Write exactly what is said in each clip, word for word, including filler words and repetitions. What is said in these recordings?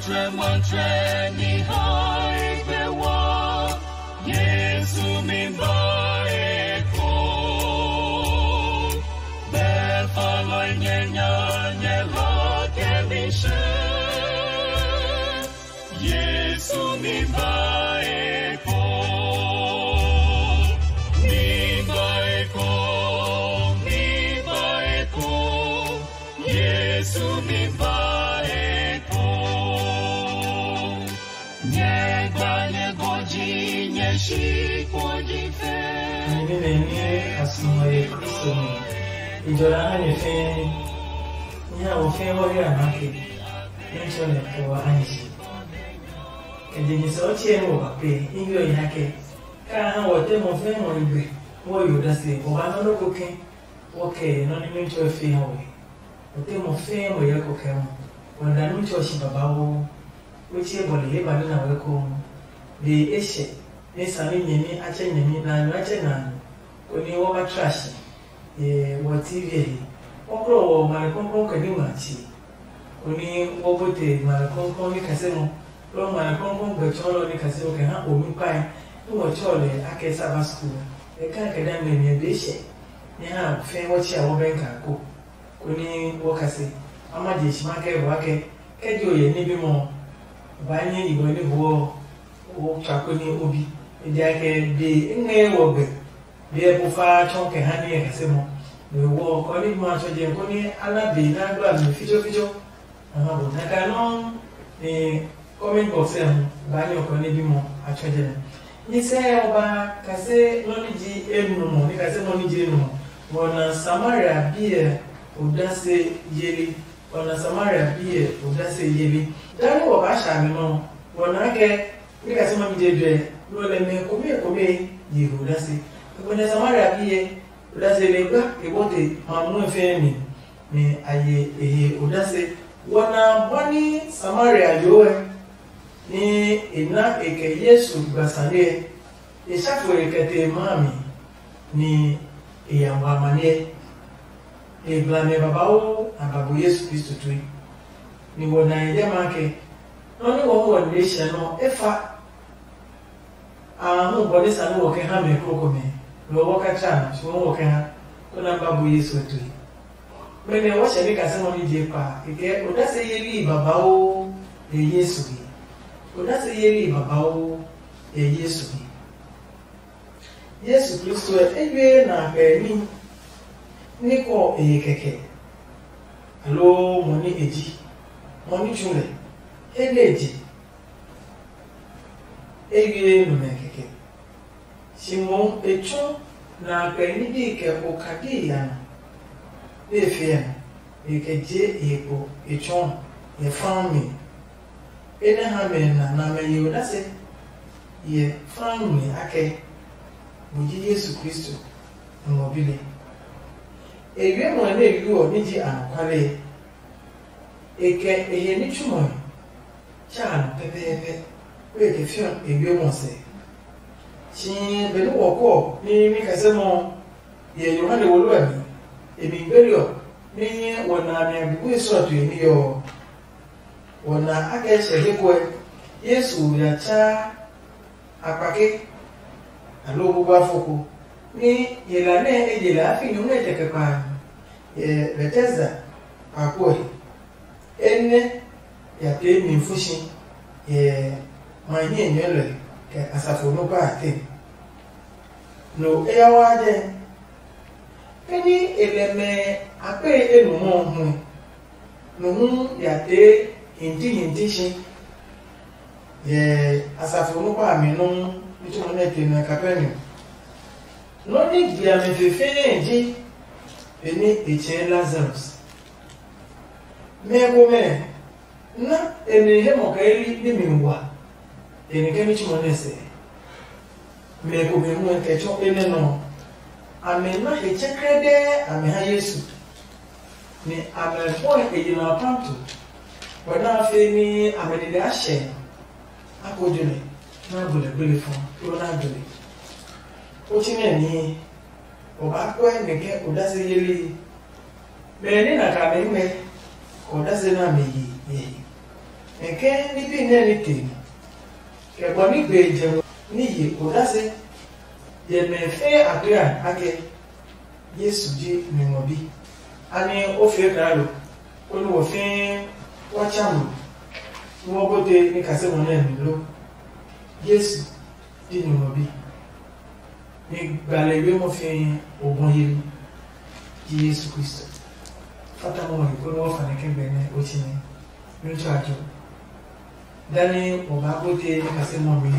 Matsɛ ni hae be wa, Yesu mi ba e ko. Be fa lɔ nyɛ nya nyɛ la ke mi she. Yesu mi ba e ko. Mi ba e ko. Mi ba e ko. Yesu mi ba e ko. Nyɛ gba nyɛ gɔji nyɛ shi kpo ji fe. Nyɛmi nɛ nɛ a suɔ yɛ Kristo mi, e jɔ la ha nyɛ fɛɛ. Nyɛ ha wɔ fɛɛ wɔ he a na ke, nɛ tsɔ lɛ kɛ wa a nyi si. Kɛ je nyɛ sɛ ɔ tsɛ nɛ wɔ ba pe, i bi ɔ nya kɛ, ka ha wɔ tɛ mɔ fɛɛ mɔ ligbe, wɔ yo da se, wɔ ba nɔ nɔ ko kɛ, wɔ kɛ nɔ ni nɛ tsɔ fe ha wɔ. Wɔ tɛ mɔ fɛɛ mɔ yɛ ko kɛ mɔ, wɔ da nɛ tsɔ shi babauu. Wetsɛ bɔle he ba nɛ na wɛ ko. Be e hyɛ, nɛ sami nyɛmi a tsɛ nyɛmi, na nyu a tsɛ na nyu, koni wɔ ba tra shi. Yɛ wɔ T V he, kɔklɔ wɔ mali kɔnkɔn kɛ ní ngma tsi, koni wɔ bote mali kɔnkɔn ní kase mɔ, lɔ mali kɔnkɔn gbɛ tsɔɔlɔ ní kase mɔ kɛ ha omi kpae, ní wɔ tsɔ lɛ akɛ Sabbath school. E kan kɛ da mɛ nyɛ be hyɛ, nyɛ ha fɛɛ wɔ tsia wɔ bɛn ka ko. Koni wɔ kase, a ma je shi ma kɛ bɔ akɛ, kɛ je o yɛ ní bimɔ, o ba nyɛ yi bɔ ní hoɔ, o tswa koni o bi. Ejaakɛ be e ngɛ wɔ gbɛ, be ɛ ko fa tsɔ kɛ ha ní ɛ kase mɔ. Be wɔ kɔ ní bimɔ a tsɔ jɛ koni a na be na gba mi fitsɔ fitsɔ. Aha bo na ka nɔ ni comment box ɛ hu ba nyɛ kɔ ní bimɔ a tsɔ jɛ nɛ. Ni sɛ ɔ ba kase nɔ ni ji enumɔ, ni kase nɔ ni ji enumɔ. Wɔ na Samaria bi ɛ odase yeli. Wɔ na Samaria bi ɛ odase yeli. Dani wɔ ba sha mi nɔ, wɔ na kɛ ni kase nɔ ni je jɛ, nɔ lɛ mɛ kome kome ye odase. Wɔ na Samaria bi ɛ odase le gba ke bote ma mu fɛ mi, ni a ye e he odase. Wɔ na bɔ ni Samaria yo ɛ, ni e na e kɛ Yesu gba sane ɛ. E sha fo e kɛ te e ma mi, ni e ya ngɔ amaniɛ. E gblamɛ babauu a ba bu Yesu Kristo tue. Ni wɔ na e yɛ ma ke, nɔ ni wɔ wɔ nle hyɛ nɔ e fa. A hu bɔ ni sane wɔ kɛ ha mɛ krokomɛ, lɔ wɔ ka tsa na, shi wɔ kɛ ha, ko na ba bu Yesu tue. Mɛnɛ wɔ hyɛ ni kase nɔ ni je pa, e kɛ odase yeli babauu e Yesu he. Odase yeli babauu e Yesu he. Yesu Kristo ɛ, e wie na kpɛ ní ní kɔ e he kɛkɛ, aloo mɔ ní e ji, mɔ ní tsu lɛ, he nɛ e je, e wie nɔ mɛ kɛkɛ. Simon e tsɔ na kpɛ ní bi kɛ okadi ya nɔ, be fe ya nɔ, e kɛ je e kpo e tsɔ yɛ fãmi. Enɛ ha mɛ na na mɛ ye odase yɛ fãmi akɛ, mo ji Yesu Kristo, Nyɔngma bi nɛ. E wiɛ mɔ nɛ e yu ɔ ní ji anɔkuale. E kɛ e he ní tsumɔe tsa a nɔ pɛpɛɛpɛ, kó e kɛ fiɔ e wiɛ mɔ sɛ. Si benɛ wɔ kɔ ní ní kɛsɛ mɔ yɛ Yohane wolo ɛ mi, e mi gbeli ɔ, ní wɔ na a mi a bubu e sɔ tue ní yɔ ɔ. Wɔ na a kɛ hyɛ he kɔɛ Yesu ya tsaa a kpake, aloo bubuafo ko, ní yela nɛ e je lɛ a fi nyumu etɛ kɛ kpa a mi, yɛ Betesda kpakpo ɔ he. Enɛ ya pee mi fushi yɛ ma hiɛ nyɔɔlɔe kɛ asafo nɔ́ pa a tɛ. No eyawa jɛ, ke ní e lɛ mɛ a kpe e nu mɔ ɔ hu, no hu ya tee hinti hinti si yɛ asafo nɔ́ pa a mi nɔ́ ní tsɔmɔ nɛ ke nɛ Kapernaum. Nɔ́ ní gbi a mi fe fɛɛ ji benɛ e tsɛɛ Lazarus. Mɛ komɛ na e mi he mɔ kɛ li ní mi wa, e ni kɛ ní tsumɔ nɛ sɛ. Mɛ komɛ hu kɛ tsɔ enɛ nɔ, amɛ na he tsɛkrɛdɛɛ amɛ ha Yesu, ni amɛ bɔe e yi na pantu, bɔ na fe ní amɛ nine a hyɛ a ko jo lɛ, na bu lɛ gbele fɔ ló na jo lɛ. O tsi nɛ nihi, o ba kɔɛ nɛ kɛ odase yeli. Mɛ nɛ na ka mɛ ngmɛ, kɛ odase na mɛ yi yɛ yi. Kɛkɛ ní bi nɛ ní te, kɛ bɔ ní gbe jɛ ní ye odase, yɛ mɛ fɛɛ a kla ake Yesu ji Nyɔngma Bi. Anɛ o fee kaa lo, konɛ wɔ fɛɛ wa tsa mo, nɛ wɔ bote ní kaseli ɔ nɛ mi lo? Yesu ji Nyɔngma Bi. Ni gbale we mo fɛɛ o bɔ yeli ji Yesu Kristo. Fata mo he konɛ wɔ fa nɛ kɛ gbɛ nɛ o tsi nɛ. Nyɔtsɔ ajo. Dani o ba bote ni kaseli ɔ mi.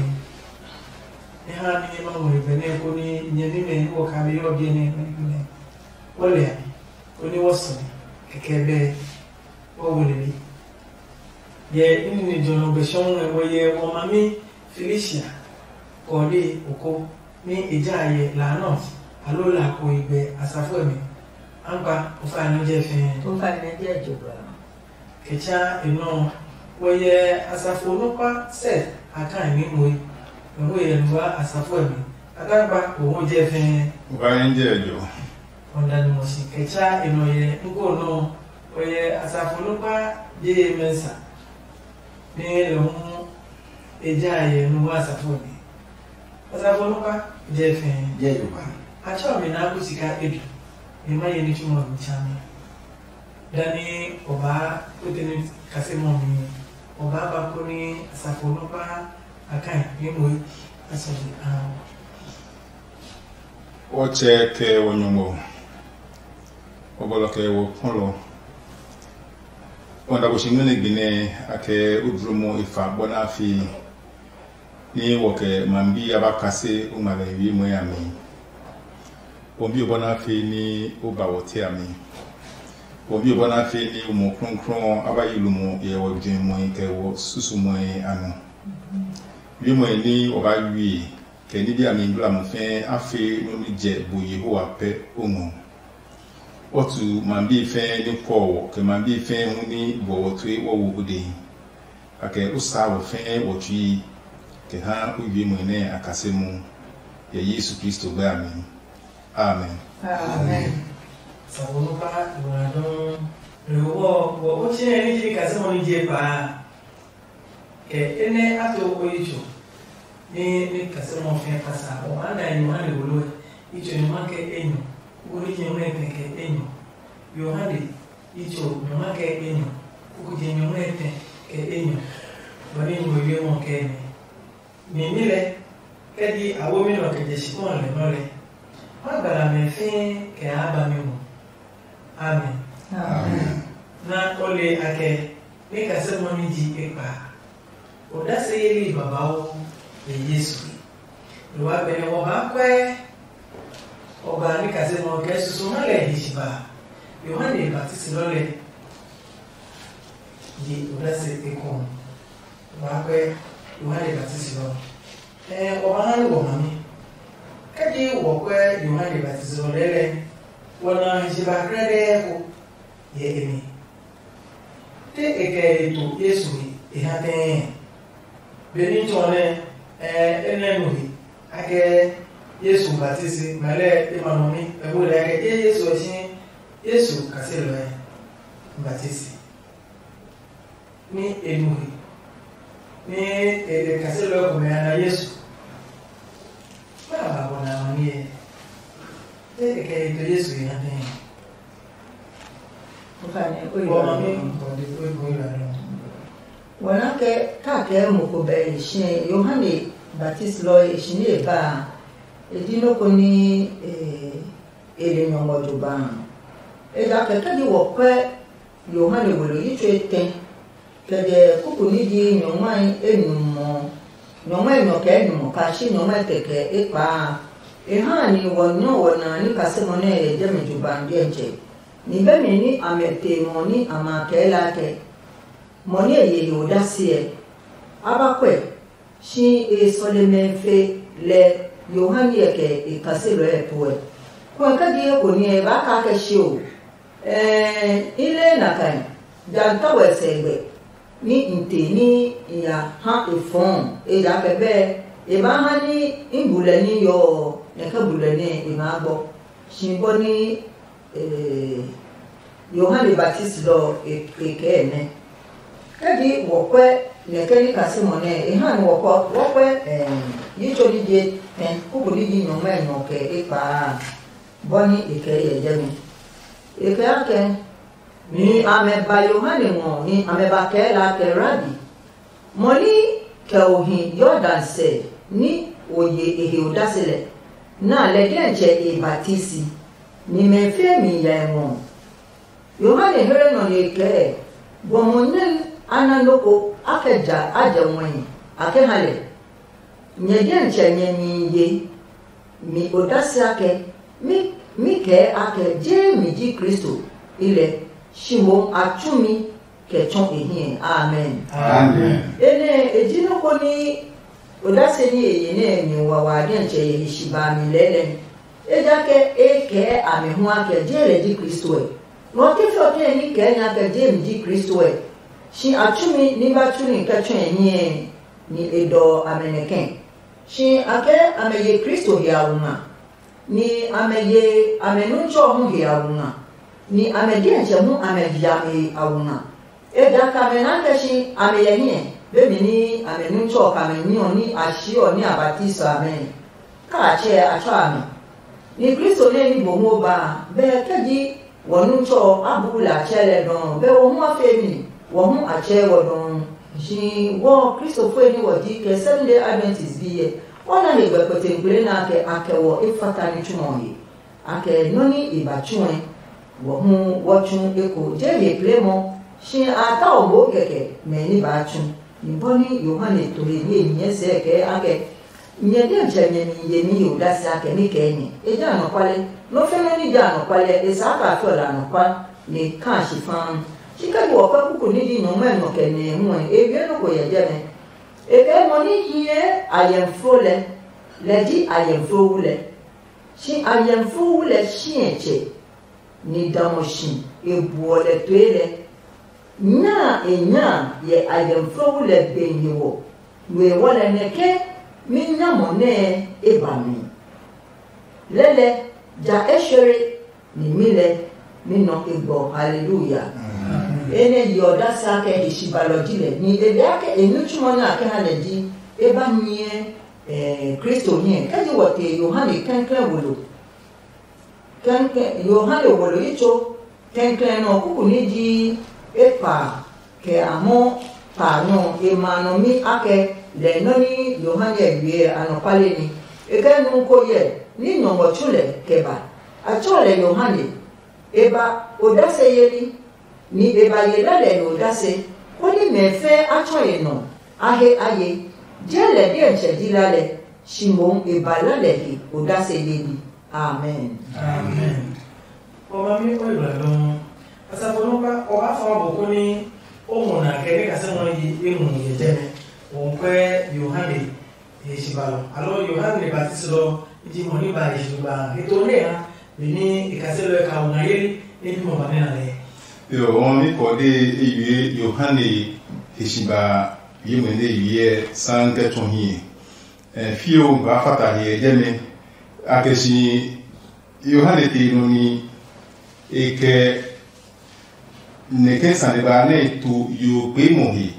Ni ha ni ma mo he gbɛ nɛ ko ni nyɛ ni mɛ ni wɔ ka be yɔ biɛ nɛ mɛ ni mɛ. Wɔ le ani, konɛ wɔ sɔ ni kɛkɛ bɛ wɔ wo lele. Yɛ nini jɔnɔ gbɛ sɔŋ ɛ wɔ yɛ wɔ mami Felicia kɔɔde oko ni e ja yɛ la nɔ alo la ko e gbɛ asafo ɛ mi. Angba o fa nɔ jɛ fɛɛ. O fa nɔ jɛ jo ba. Kɛ tsa e nɔ wɔ yɛ asafo nukpa sɛ a kan ni moe. Mɛ ho yɛ nuwa asafo ɛ mi. A kan gba o ho jɛ fɛɛ. O fa nɔ jɛ jo. Ɔ da ni mo si kɛ tsa e nɔ yɛ nko nɔ wɔ yɛ asafo nukpa je ye mɛsa. Ni lɛ hu e ja yɛ nuwa asafo ɛ mi. Asafo nukpa je fɛɛ. Je jo ba. A tsɔ mi na ku sika edu. Mi ma ye ni tsumɔ mi tsa mi. Dani o ba kute ni kaseli ɔ mi. O ba ba ko ni asafo nukpa a kan ni moe a sɔ ji a. Wɔtsɛ kɛ wɔ Nyɔngmɔ, wɔ bɔlɔ kɛ wɔ kpɔlɔ. Wɔ da bo si ngmɛnɛ gbi nɛ a kɛ o dlomɔ e fa bɔ na fi. Ni wɔ kɛ ma bi ya ba kase o ngma lɛ wiemɔe a mi. Wɔ bi o bɔ na fi ni o ba wɔ te a mi. Wɔ bi o bɔ na fi ni o mɔ klɔnklɔn a ba yi lumɔ yɛ wɔ juɛmɔe kɛ wɔ susumɔe a nɔ. Wiemɔe ni wɔ ba wie kɛ ní bi a mi nglamɔ fɛɛ a fe nɔ́ ní jɛ bu Yehowa pɛ o ngɔ. Wɔ tu ma bi fɛɛ ní kɔɔ wɔ kɛ ma bi fɛɛ hu ní bɔ wɔ tue wɔ wo o dɛ. Kɛkɛ o saa wɔ fɛɛ wɔ tsui kɛ ha o wiemɔe nɛ a kase mu. Yɛ Yesu Kristo gbɛ a mi. Amen. Amen. Sabo no pa ngɔna dɔɔ. Lewɔ wɔ o tsɛ ni ji kase mɔ ni je pa. Kɛ enɛ a to o yi tso. Ni ni kase mɔ fɛ pasa o ma na Yohane wolo yi tso ni ma kɛ enyɔ. Wo ni je mɛ kɛ kɛ enyɔ. Yohane yi tso ni ma kɛ enyɔ. Kuku je nyɔ mɛ tɛ kɛ enyɔ. Bɔ ni mo yi mɔ kɛ ni. Nyɛmi lɛ, kɛ ji a womi nɔ kɛ je shikpɔn lɛ nɔ lɛ, ma gbala mɛ fɛɛ kɛ a ba mi ngɔ. Amen. Amen. Na o le akɛ, ni kase mɔ ni ji ekpa. O da se yeli babauu ye Yesu. Lo wa bɛnɛ wɔ ba kwɛ. O ba ni kase mɔ kɛ susu ha lɛ hi shi ba. Yohane Baptist lɔ lɛ. Ye o da se ekɔn. Wa kwɛ Yohane Baptist lɔ. Ɛɛ, o ma ha ni wɔ mami. Kɛji wɔ kwɛ Yohane Baptist lɔ lɛlɛ, wɔ na hi shi ba krɛdɛɛ ko yɛ e mi. Te e kɛ e to Yesu he e ha tɛɛ. Benitsɔ nɛ, ɛɛ, e nɛ nu he akɛ Yesu Baptist ma lɛ e ma nɔ mi. E wo lɛ akɛ ye Yesu ɔ si Yesu kaselɔɛ Baptist. Ni e nu he, ni e, e kaselɔɛ komɛ a na Yesu. Kpa a ba bɔ na amaniɛ. Te e kɛ e to Yesu he ha tɛ. Wɔ ma mi bɔ de ko e ko e la nɔ. Wɔna kɛ ka kɛ mo ko bɛ e shi Yohane Baptist lɔ e shi ni e ba a, e di nɔ ko ni e e le nyɔngmɔ jo ba a. Ejakaa kɛji wɔ kwɛ Yohane we lo yi tsuo etɛ, kɛ jɛ kuku ní ji nyɔngmai enyumu ɔ, nyɔngmai enyɔ kɛ enyumu ɔ, kashi nyɔngmai kɛkɛ ekpaa a, e ha a nihi wɔ nyɔ wɔ na ní kasimɔ nɛ e yɛ jɛmɛ jugba a diɛtsɛ. Ni bɛ mi ní a mɛ te mɔ ní a ma kɛɛ lɛ akɛ, mɔ nɛ e ye he odase ɛ, a ba kwɛ, shi e sɔlemɛ fe lɛ Yohane ɛ kɛ e kaselɔɛ ɛ puɛ. Kɔɛ kɛ je eko niɛ e baa kaa kɛ shi o. Ɛɛ, i le nakai, ja n ta wɛ sɛgbɛ ní n te ní i ya ha e fɔɔ, ejakaa bɛɛ e baa ha ní i bu lɛ ní yɔɔ ɔ, nɛ kɛ bu lɛ nɛ e maa gbɔ. Shi bɔ ní Ee, Yohane Baptist lɔ ɔ, e e kɛɛ nɛ. Kɛji wɔkwɛ nɛ ke ní kasimɔ nɛ e ha nɛ wɔkwɛ wɔkwɛ yi tso ní je tɛ kuku ní ji nyɔngmɛ nyɔ kɛ ekpaa a, bɔ ní e kɛ yɛ jɛmi. E kɛ akɛ, ni amɛ ba Yohane ngɔ ni amɛ ba kɛɛ la kɛ, Rabi, mɔ ní kɛ o hi Yordan sɛ ní o ye e he odase lɛ, na lɛ diɛtsɛ e batisi, ni mɛ fie mi ya e ngɔ. Yohane here nɔ nɛ e kɛɛ, bɔ mo nɛ a na nɔ́ ko a kɛ ja a jɛ wɛhi a kɛ ha lɛ. Nyɛ diɛtsɛ nyɛ nihi ye mi odase akɛ mi kɛɛ akɛ je mi ji Kristo i lɛ, shi mohu a tsu mi kɛ tsɔ e hiɛ. Amen. Amen. Enɛ e ji nɔ́ ko ní odase ní e ye nɛ mi wawa diɛtsɛ yɛ he shi ba mi lɛɛlɛ. Ejakaa e kɛɛ a mi hu akɛ je lɛ ji Kristo ɛ. Ngɔ ke fɛ ɔ kɛ ní kɛɛ nya kɛ je mi ji Kristo ɛ. Shi a tsu mi ní ba tsu ní kɛ tsɔe hiɛ, ni e dɔ amɛ nɛ kɛ̃. Shi a kɛ amɛ ye Kristo hiawu nga, ni amɛ ye amɛ nuntsɔ hu hiawu nga, ni amɛ diɛtsɛ hu amɛ hiame awu nga. Ejakaa mɛ naa kɛ si amɛ yɛ hiɛ, be mi ní amɛ nuntsɔ ɔ kɛ amɛ ní ɔ ní a si ɔ ní a batiso amɛ. Kaa a tsɛɛ a tsɔ amɛ. Ni Kristo nɛ ní bo hu o ba a, bɛ kɛ ji wɔ nuntsɔ ɔ a buu lɛ a tsɛɛ lɛ dɔɔ, bɛ wɔ hu a fee mi, wɔ hu a tsɛɛ wɔ dɔɔ. Shi wɔ Kristofoi ní wɔ ji kɛ Seventh Day Adventist bi ɛ, wɔ na he gbɛ kpɛtɛnkpele nɛ a kɛ a kɛ wɔ e fata ní tsu ɔ he. A kɛ nɔ́ ní e ba tsuɛ, wɔ hu wɔ tsu eko je ye plemɔ, shi a ta o moo kɛkɛ mɛ ní baa tsu. Ni bɔ ní Yohane to he ní e nyɛɛ sɛɛ kɛɛ a kɛ, nyɛ diɛtsɛ nyɛ mi yemi he odase a kɛ ní kɛɛ nyɛ. E jɛ anɔkuale, nɔ́ fɛnɛ ní jɛ anɔkuale ɛ, e saa kaa fɛ ɔ la anɔkua, nɛ e kaa shi faa. Shi kɛ ji wɔ pɛ kuku ní ji nyɔngmɛ nɔ kɛ nɛ hu ɛ, e wiɛ nɔ́ ko yɛ jɛmɛ. E kɛɛ mɔ ní hyɛ ayɛmfo lɛ, lɛ ji ayɛmfo wu lɛ. Shi ayɛmfo wu lɛ shiɛtsɛ, ni damɔ shi e buɔ lɛ toe lɛ. Nya a e nya a yɛ ayɛmfo wu lɛ gbehi ɔ, nue wɔ lɛ nɛ ke mi nyamɔ nɛɛ e ba mi. Lɛlɛ, ja e shere, ni mi lɛ mi nɔ e gbɔ. Haleluya. Enɛ yeɔ dasi akɛ e shibalɔ ji lɛ, ni e be akɛ e nitsumɔ nɛ a kɛ ha lɛ ji e ba nyɛ Kristo nyɛ. Kɛji wɔ te Yohane kɛnklɛn wo lo, kɛnkɛn Yohane wo lo yi tso kɛnklɛn nɔ kuku ní ji ekpa kɛ amɔ pa nɔ e ma nɔ mi akɛ lɛ nɔ ní Yohane ɛ wie anɔkuale ní. E kɛ nu ko yɛ ní nyɔngɔ tsu lɛ kɛ ba. A tsɔ lɛ Yohane, e ba odase yeli, ni e ba ye lɛ lɛ he odase, konɛ mɛ fɛɛ a tsɔ e nɔ a he a ye. Je lɛ diɛtsɛ ji la lɛ, shi mohu e ba la lɛ he odase yeli. Amen. Amen. Ɔmami o yi blɛ nɔ. Asafo nɔ ba o ba fɔ bo ko ni o mo na kɛ ne ka se mo yi e mu ye jɛ ne. O kwɛ Yohane ye shi ba lo. Alo Yohane Baptist lo ji mo ni ba ye shi ba. E to ne ha ni e ka se lo ka o na ye ne bi mo ba ne na le. Yo, ɔmami kɔ de e yue Yohane ye shi ba ye mo ne ye san kɛ tɔ hiɛ. Fio ba fata hiɛ jɛ me. Akɛ si Yohane te nɔ ni e kɛ nɛkɛ sane ba nɛ e to yo kpeemɔ he,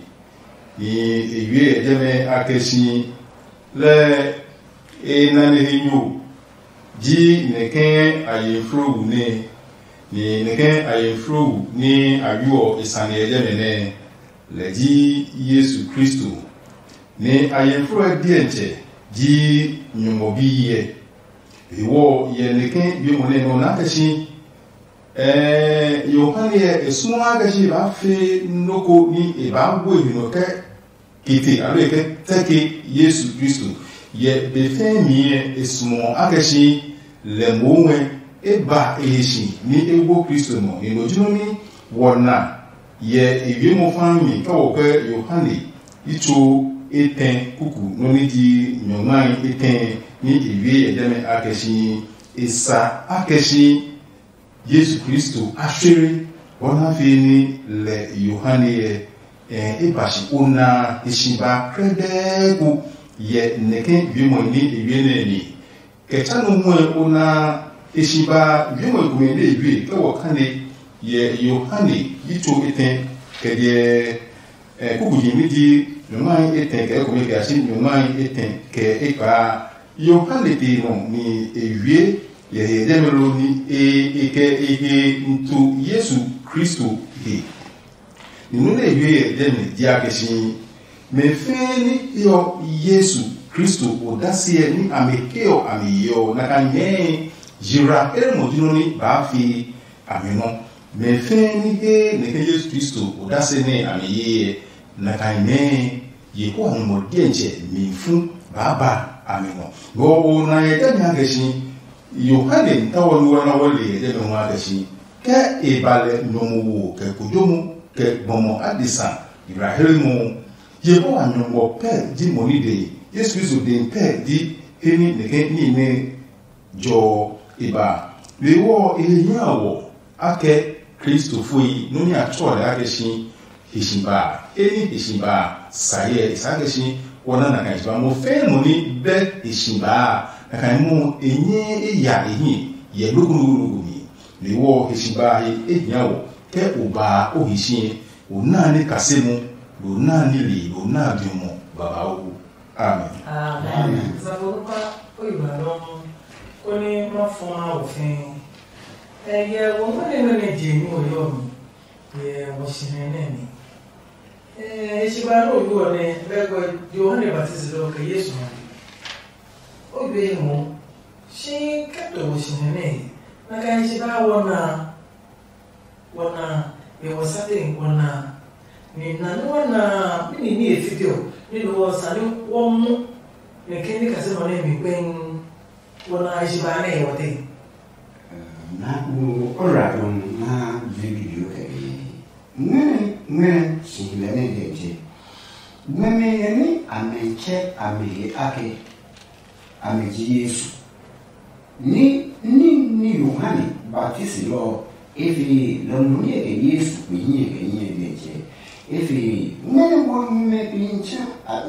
ni e wie yɛ jɛmɛ akɛ si lɛ e nane he nyo ji nɛkɛ a ye flo wu nɛ, ni nɛkɛ a ye flo wu ni a yuɔ e sane yɛ jɛmɛ nɛ lɛ ji Yesu Kristo. Ni a ye flo ɛ diɛtsɛ ji Nyɔngmɔ biɛ. Hewɔ yɛ nɛkɛ biemɔ nɛ nɔ na kɛ si ɛɛ Yohane ɛ e suɔ a kɛ si e baa fe nɔ́ ko ní e baa bue mi nɔ kɛ kete alo e kɛ tɛke Yesu Kristo. Yɛ be fɛɛ mi ɛ e suɔ a kɛ si lɛ mohu ɛ e ba e he si ní e wo Kristo nɔ. Ni no ji nɔ́ ní wɔ na yɛ e wiemɔ faa mi kɛ wɔ kɛ Yohane yi tso etɛ kuku nɔ́ ní ji nyɔngmai etɛ ní e wie yɛ jɛmɛ a kɛ si e sa a kɛ si Yesu Kristo a shere bɔ na fee ní lɛ Yohane ɛ e ba si o na e si ba krɛdɛɛ ko yɛ nɛkɛ wiemɔ ní e wie nɛ mi. Kɛ tsa nɔ muɛ o na e si ba wiemɔ komɛ nɛ e wie kɛ wɔ kane yɛ Yohane yi tso etɛ kɛ diɛ Ɛ, kukuji ní ji nyɔngmai etɛ kɛ ekome kɛ a si nyɔngmai etɛ kɛ ekpaa. Yohane pe nɔ ni e wie yɛ he jɛmɛ lo ni e e kɛ e he nto Yesu Kristo he. Ni nɔ́ nɛ e wie yɛ jɛmɛ ji a kɛ si mɛ fɛɛ ní heɔ Yesu Kristo odase ɛ ní a mi heɔ a mi yeɔ na ka nyɛɛ yira he mɔ ji nɔ́ ní baa fi a mi nɔ. Mɛ fɛɛ ní he nɛ ke Yesu Kristo odase nɛ a mi ye ɛ, na ka nyɛɛ Yehowa Nyɔmɔ diɛntsɛ mi fu baa ba a mi nɔ. Ngɔ o na yɛ jɛmɛ a kɛ si Yohane n tawɔ nua na wɔ le yɛ jɛmɛ hu a kɛ si kɛ e ba lɛ nyɔmo wo kɛ kojomo kɛ gbɔmɔ adesa yirahelemɔ. Yehowa Nyɔmɔ pɛ ji mo ní de. Yesu Kristo de pɛ ji he ní nɛkɛ ní nɛ jɔ e ba. Be wɔ e he hia wɔ akɛ Kristofoi nɔ́ nɛ a tsɔ lɛ akɛ si he si ba. E ní he si ba sa hyɛ e sa akɛ si wɔ na na kan si ba mo fɛɛ mo ní bɛ he si ba na kan mo e nyɛ e ya e hi yɛ loko loko loko mi. Be wɔ he si ba he e hia wɔ kɛ o ba o he si o na ní kase mo lo na ní le lo na bi mo babauu. Amen. Amen. Zaborupa oyibalɔ koni ma fɔa wɔ fɛɛ. Ɛyɛ wɔ mɔne nɔ nɛ je ní wɔ yɔ mi yɛ wɔ shinɛ nɛ mi. Ɛ shi ba nɔ yo nɛ bɛ gbɛ Yohane Baptist lɔ kɛ Yesu ma. O gbe mo shi kɛ to wɔ shinɛ nɛ na ka shi ba wɔ na. Wɔna, e wɔ sate wɔna, ni na ni wɔna mini ni e fite ɔ ni no wɔ sa ni wɔ mu ne ke ni kasɛ mɔ ne mi gbɛng wɔna a shi ba ne e wɔ te. Na wo ora dɔn na bibi biyo kɛ bi ngmɛnɛ ngmɛnɛ si lɛ ne de je. Ngmɛmɛ yɛ ni amɛ tsɛ amɛ he ake amɛ ji Yesu. Ní ní ní Yohane baptisi lɔ ɔ, e fe lɔmɔ ní ɛ kɛ Yesu kpe hiɛ kɛ hiɛ kɛ tsɛ. E fe mɛnɔ wɔ mɛ pe ntsã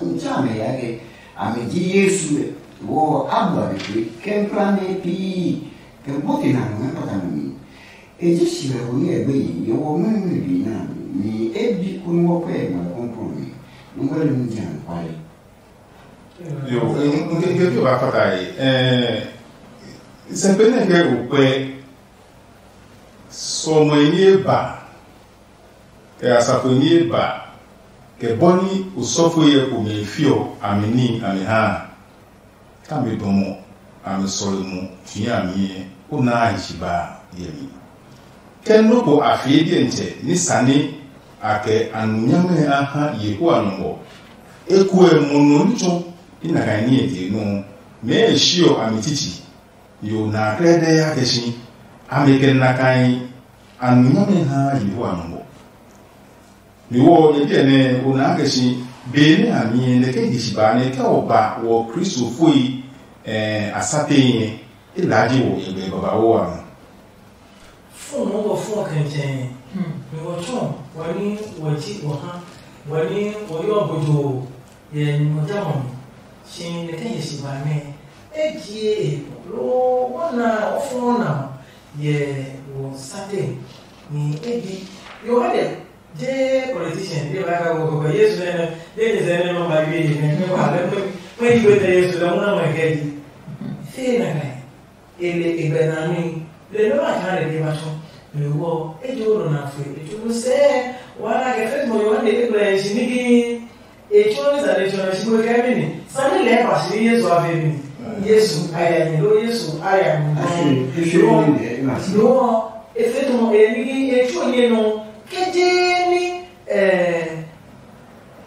ntsã mɛ ya kɛ amɛ ji Yesu ɛ wɔ abu a be pe kɛ nkpla mɛ pii kɛ bote na nɔ mɛ pata nɔ mi. E ji si lɛ ko ní ɛ gbe yi ye wɔ mɛ mɛ bi na mi e bi ko ní wɔ pɛ ma kɔnkɔn mi. Nungɔ le mu jɛ ankwale. Yo, nke nke ke ba fata yi. Eh, sɛkpe nɛ kɛ o kpɛ sɔmɔe ni e ba kɛ asafo ni e ba kɛ bɔ ni osɔfo yɛ ko mɛ fiɔ ami ni ami ha. Ka mi dɔmɔ ami sɔlemɔ fi ami yɛ o na a yi si ba yɛ mi. Kɛ nɔ́ ko a fie diɛntsɛ ní sane a kɛ a nu nyamɛ a ha Yehowa nɔ ɔ, ekuɛ mo nɔ ní tsɔ i na kaa ní e je nɔ́ ɔ, mɛɛ e shiɔ a mi tsitsi, yo na a klɛdɛɛ a kɛ si, a mi kɛ na kaa a nu nyamɛ ha Yehowa nɔ ɔ. Mi wɔ nyɛ biɛ nɛ o na kɛ si, be nɛ a mi nɛ ke hisi ba nɛ kɛ o ba wɔ Kristofoi a sa tee nyɛ, e laa ji wɔ yɛ gbɛ babauu a nɔ. Fo nɔ́ wɔ fɔ kɛntsɛn, mi wɔ tsɔ wɔ ní wɔ ji wɔ ha, wɔ ní wɔ yɔ bojo yɛ nyumu jamɔ mi, si nɛ kɛ nyɛ si ba nɛ e jie e loo wɔ na wɔ fɔ na yɛ wɔ sate ni e bi. Yohane je politician de ba ka wɔ kɔkɔ Yesu nɛ nɛ de ni sɛ nɛ nɔ ba yue yi nɛ nɛ wa lɛ mɛ yi wɛ tɛ Yesu lɛ muna mɛ kɛ di. Fe na ka e le e gbɛ na mi le mɛ ma ka le de ma tsɔ. Mi wɔ e jo ro na fe e jo sɛ wa na kɛ fe mo Yohane e gbɛ shi ni gi. E tsuo ní sane tsuo nɔ shi we kɛ mi ni sane lɛɛ ba shi ni Yesu a ve mi ni Yesu a ya nyi lo Yesu a ya nyi nɔ. Lo e fe tɔmɔ e ni e tsuo nye nɔ ke je ni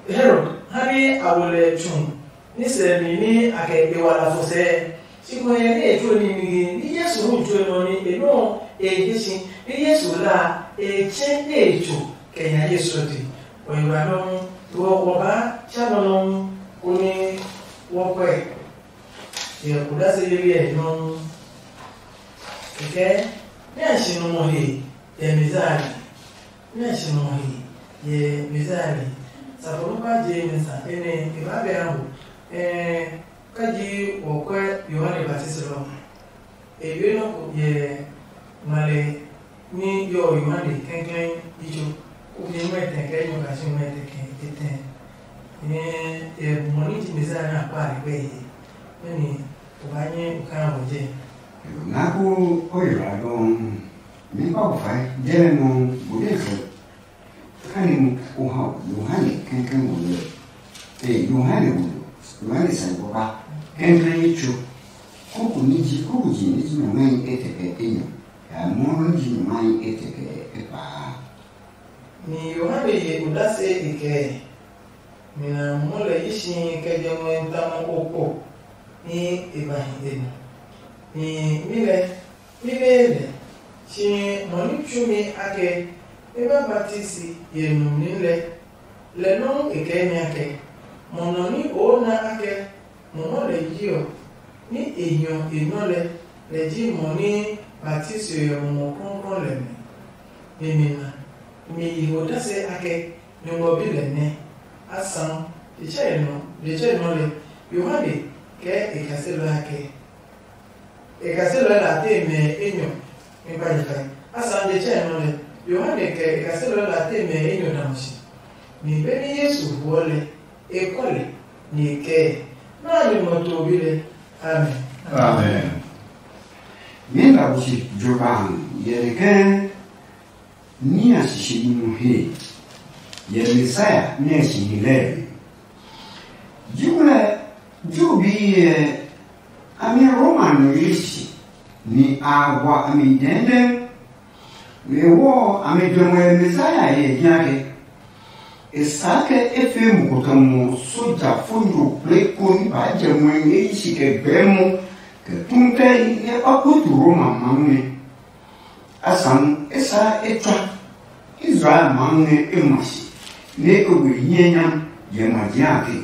Herod ha ni a wo lɛ tsu ni sɛ mi ni a kɛ e wa la fo sɛ. Shi ko yɛ ni e tsuo ni mi ni Yesu hu tsuo nɔ ni e nɔ e he shi ni Yesu la e tsɛ e tso kɛ nya Yesu ti. Wɔ yi wa nɔuu, lo ɔ, wɔ baa tsa nɔ nɔuu, konɛ wɔ kɔe hyɛ odase yeli ɛ nɔuu. Kɛkɛ, nɛ a si nɔ mɔ he yɛ Mizari, nɛ a si nɔ mɔ he yɛ Mizari, safo nɔ́ ba je mɛ sa enɛ e ba bɛ ha mo. Ɛɛ, kaji wɔ kɔe Yohane Baptisi lɔ. E be nɔ ko yɛ ngmale ní yɔɔ Yohane kɛnklɛn yitso. O mi ngmɛtɛ kɛ nyɔ ka si ngmɛtɛ kɛ etɛ. Nyɛ e mɔ ni ti Mesia na kpa le kpɛ ye. Mɛni o ba nyɛ o ka wo je. Na ko o yi ra dɔn. Mi ba o fa je le no bu de so. Kani mu o ha Yohane kɛnkɛn wo le. E Yohane wo le. Yohane san ko ba. Kɛnkɛn yi tso. Kuku ni ji kuku ji ni ji nyɔ ngai etɛ kɛ enyɔ. Ya mɔ ni ji nyɔ ngai etɛ kɛ epa. Ni Yohane ye odase e kɛɛ, mi na mɔ lɛ yi si kɛ jɛ ngmɛ tamɔ okpo ni e ba hi e nɔ. Ni mi lɛ, mi bee lɛ, si mɔ ni tsumi akɛ e ba batisi ye numi lɛ, lɛ nɔuu e kɛɛ mi akɛ, mɔ nɔ ni oo na akɛ Mumɔ lɛ yi ɔ, ní e hiɔ e nɔ lɛ, lɛ ji mɔ ní batisi ɔ Mumɔ Klɔuklɔu lɛ mi. Nyɛmimɛ a, mi yi ho dase akɛ Nyɔngmɔ Bi lɛ nɛ. Asaŋ, detsɛ nɔ detsɛ nɔ lɛ, Yohane kɛ e kaselɔe akɛ, e kaselɔe la te mɛ enyɔ mi kpa nyɛ kai. Asaŋ, detsɛ nɔ lɛ, Yohane kɛ e kaselɔe la te mɛ enyɔ da mo si. Mi be ní Yesu huɔ lɛ, e kɔ lɛ, ni e kɛɛ, nɛ a nyumu ɔ to bi lɛ. Amen. Amen. Mí na bu si jo ba yɛrɛ kɛ ní a sisi nu he yɛ Messiah nɛ si hi lɛ. Jiwlɛ Ju bi yɛ a mi Roma nu yi si ni a wa a mi dɛndɛn. Lewɔ a mi jɔmɛ Messiah yɛ hiake. E sa ke e fe mu kotɔmɔ soja fo nyo kple ko ni ba jɛ muɛ ngɛ yi si kɛ gbɛɛ mɔ kɛ tun kɛ yi ngɛ ɔkutu Roma mamu nɛ. Asaŋu e sa e tswa Israel mamu nɛ e ma si nɛ e we hiɛ nyam yɛ ma jia ke.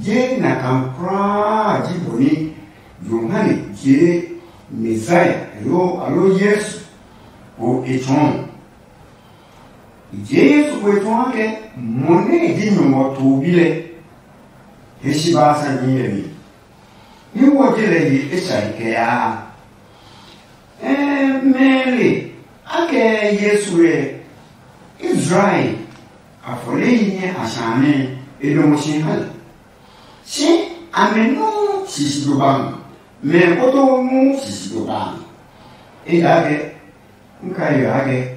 Je na kan kulaa ji bɔ ni Yohane je Messiah alo alo Yesu ko e tsɔɔ. I je Yesu ko e tsɔɔ ke mɔ nɛ e ji nyɔngɔ to bi lɛ. He si ba sa ji yɛ mi. Ní wɔ je lɛ ye e sane kɛ yaa. Ɛɛ mɛɛle akɛ Yesu ɛ Israel afɔle yi nyɛ a sane e dɔmɔ si ha lɛ. Si amɛ nuu sisi do ba mi, mɛ koto nuu sisi do ba mi. Ejaakɛ n ka yo ake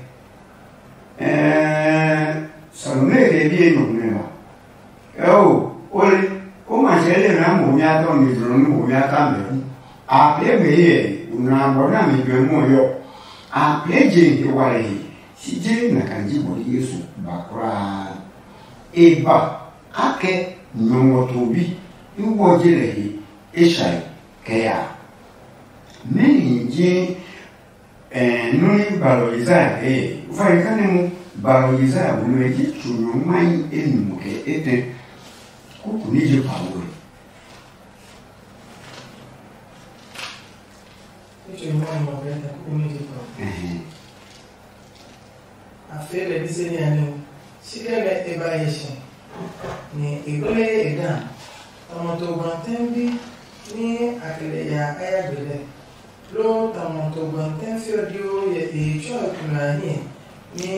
ɛɛ Salome kɛ bi enyɔ nɛ ba. Ɛo ole o ma sɛ le na mo mi atɔ mi dro ni mo mi ata mɛ ku. A pee mɛ yɛ una bɔ na mi bɛ mo yɔ. A pee je he wa le he si je na kan ji bɔ Yesu ba kulaa. E ba akɛ nyɔngɔ to bi i wɔ je lɛ he e shai kɛ ya. Mɛni ji ɛɛ nɔ́ nɛ gbalɔ Yesaya kɛɛ, o fa kane mo gbalɔ Yesaya bu nɛ ji tso nyɔ mai enyumu kɛ etɛ kuku ní je pa wo. Ní tso nyɔ mai enyumu kɛ etɛ kuku ní je pa wo. Ɛhɛn. A fee lɛ bisɛ ní a nɛ ɔ, si kɛ nɛ e ba hyɛ si, nɛ e gblɛɛ e dã. Tamɔ to gbantɛ bi ní a kɛ lɛ ya a ya gbe lɛ, loo tamɔ to gbantɛ fiɔ dio yɛ e tsɔɔ e kuna a hiɛ ní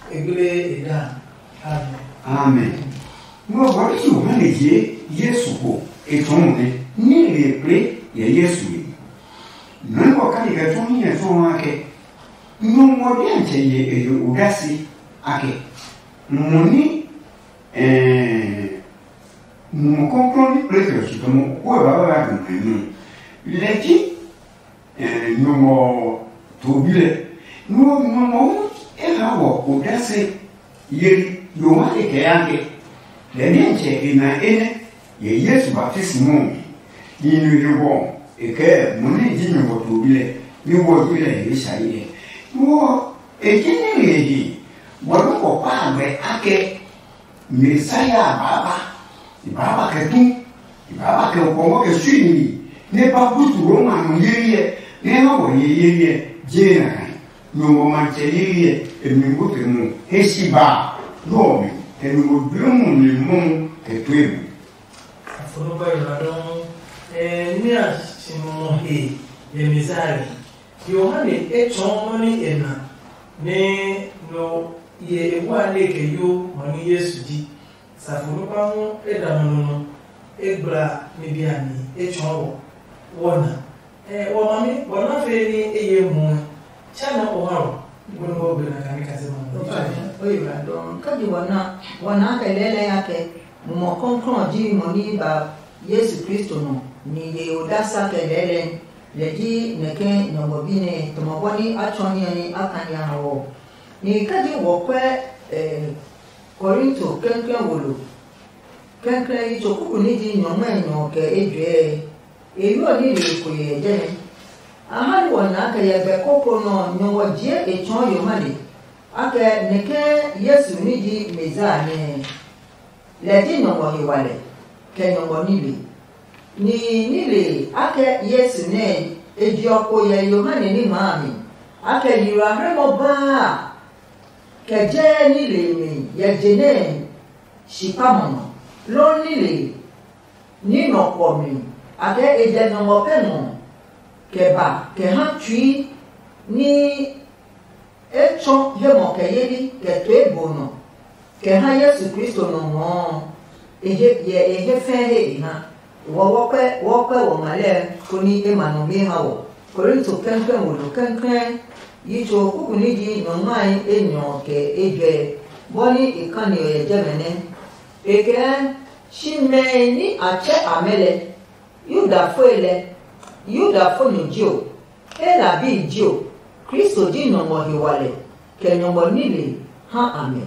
e gblɛɛ e dã. Amen. Amen. Nɔ bɔ ni Yohane je Yesu ko e tsɔɔ nɛ ní e le kple yɛ Yesu e. Nɔ́ nɛ ɔ kake kɛ tsuo ní nyɛ tsuo ɔ akɛ, Nyɔngmɔ diatsɛ ye e he odase akɛ, mɔ ní ɛɛ Mumɔ Klɔuklɔu ní kple kɛ ɔ tsutamɔ ko ɛ ba ba ba dɔ mɛ nɔ. Lɛ ji ɛɛ Nyɔngmɔ to bi lɛ. Nɔ Nyɔngmɔ hu e ha wɔ odase Yeli Yohane kɛɛ akɛ, lɛ nɛ tsɛ e na enɛ yɛ Yesu baptisimo ɔ mi. Ni no he wɔ e kɛɛ mo nɛ ji nyɔngɔ to bi lɛ, ni wɔ ji lɛ he sha yi lɛ. Ni wɔ e ji ní le he wɔ nɔ kɔ kpa agbe akɛ Mesia a baa ba, e baa ba kɛ tu, e baa ba kɛ okɔngɔ kɛ sui ni, nɛ e ba butu Roma no yeli ɛ, nɛ e ha wɔ ye yeli ɛ, je na kai. Nyɔngmɔ matsɛ yeli ɛ, e mi ngɔ kɛ mu he si ba lɔ mi kɛ nyɔngmɔ gbe mu mi mu kɛ tue mu. Afɔnɔba yi na dɔn ɛ ní a si mɔ he yɛ Mesia. Yohane e tsɔɔ nɔ ní e na nɛ nɔ Ye e wa le kɛ yo mɔ ni Yesu ji. Safo nukpa hu e da nɔ nɔ e gbla mi bi a mi e tsɔɔ wɔ wɔ na. Ɛ wɔ ma mi wɔ na fe ni e ye mu ɛ. Cha na o ha wɔ. Gbɔn wɔ gbe na ka ni ka se ma. Oye ba dɔn ka ji wɔ na wɔ na kɛ lɛlɛ ya kɛ mumɔ kɔnkɔn ji mɔ ni ba Yesu Kristo nɔ ni ye odasa kɛ lɛlɛ. Lɛ ji nɛkɛ nyɔngɔ bi nɛ tɔmɔ bɔ ni a tsɔ hiɛ ni a ka nya ha wɔ. Ni ka ji wɔ kwɛ eh, Korinto kɛnkɛn wo lo kɛnkɛn yi tso kuku ni ji nyɔngmɛ nyɔ kɛ ejwɛɛ. E yu ɔ ni le ko yɛ jɛ nɛ. A ha ni wɔ nya kɛ yɛ gbɛ koko nɔ nyɔngɔ jie e tsɔɔ Yohane. A kɛ nɛkɛ Yesu ni ji Mezia nɛ. Lɛ ji nyɔngɔ he wa lɛ kɛ nyɔngɔ nile. Nihi nile a kɛ Yesu nɛ e je ɔ ko yɛ Yohane ní maa mi. A kɛ yilaheremɔ baa kɛ jɛɛ nile mi yɛ je nɛ shi kpamɔ nɔ, loo nile ní nɔ kɔ mi. A kɛ e jɛ nyɔngɔ pɛ ngɔ kɛ ba kɛ ha tsui ní e tsɔ hemɔ kɛ yeli kɛ toe bo nɔ kɛ ha Yesu Kristo nɔ ngɔɔ e je yɛ e he fɛɛ he e ha. Wɔ wɔkpɛ wɔkpɛ wɔ ma lɛ koni e ma nɔ mi ha wɔ. Korinto kɛnkɛn wo lo kɛnkɛn yi tso kuku ni ji nyɔngmae enyɔ kɛ ejwɛ bɔ ni e kani ɔ yɛ jɛmɛ nɛ. E kɛɛ shi mɛe ní a tsɛ amɛ lɛ, Yudafoi lɛ, Yudafo nyo ji o, Hela bi ji o, Kristo ji nyɔngmɔ he walɛ kɛ nyɔngmɔ nile ha a mɛ.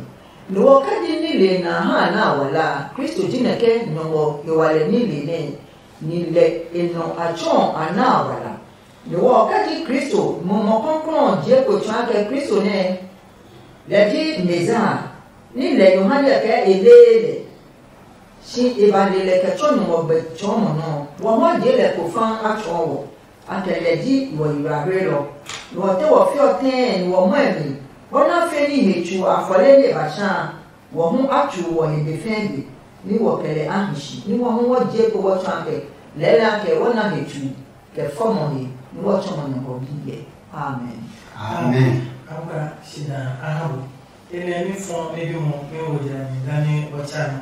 Lo ɔ kɛ ji nile nɛ a ha a na a wala a, Kristo ji nɛ ke nyɔngmɔ he walɛ nile nɛ ni lɛ e nɔ a tsɔ a na a wala. Lo ɔ kɛ ji Kristo, Mumɔ Klɔuklɔu ɔ jie kpo tsɔɔ kɛ Kristo nɛ lɛ ji Mezia, ni lɛ Yohane kɛ e lee lɛ. Si e ba le lɛ kɛ tsɔ nyɔngmɔ gbɛ tsɔɔmɔ nɔ ɔ, wɔ hu a jee lɛ kpo faa a tsɔɔ wɔ. A kɛ lɛ ji wɔ yiblaablelɔ. Nɔ ɔ te wɔ fiɔ tɛɛ ni wɔ mɔɛ mi, bɔ na fe ní he tsu afɔle nɛ e ba sha a, wɔ hu a tsu wɔ he be fɛɛ be, ní wɔ kɛ lɛ a hi shi, ní wɔ hu wɔ jee kpo wɔ tsɔ a kɛ lɛɛlɛɛ a kɛ wɔ na he tsu kɛ fɔmɔ he, ní wɔ tsɔmɔ nɔ kɔ bi hyɛ. Amen. Amen. Amka shida ahabu. Enɛ ní fɔ ní bí mo ní wo jɛ mi dá ní ɔtsa nɔ.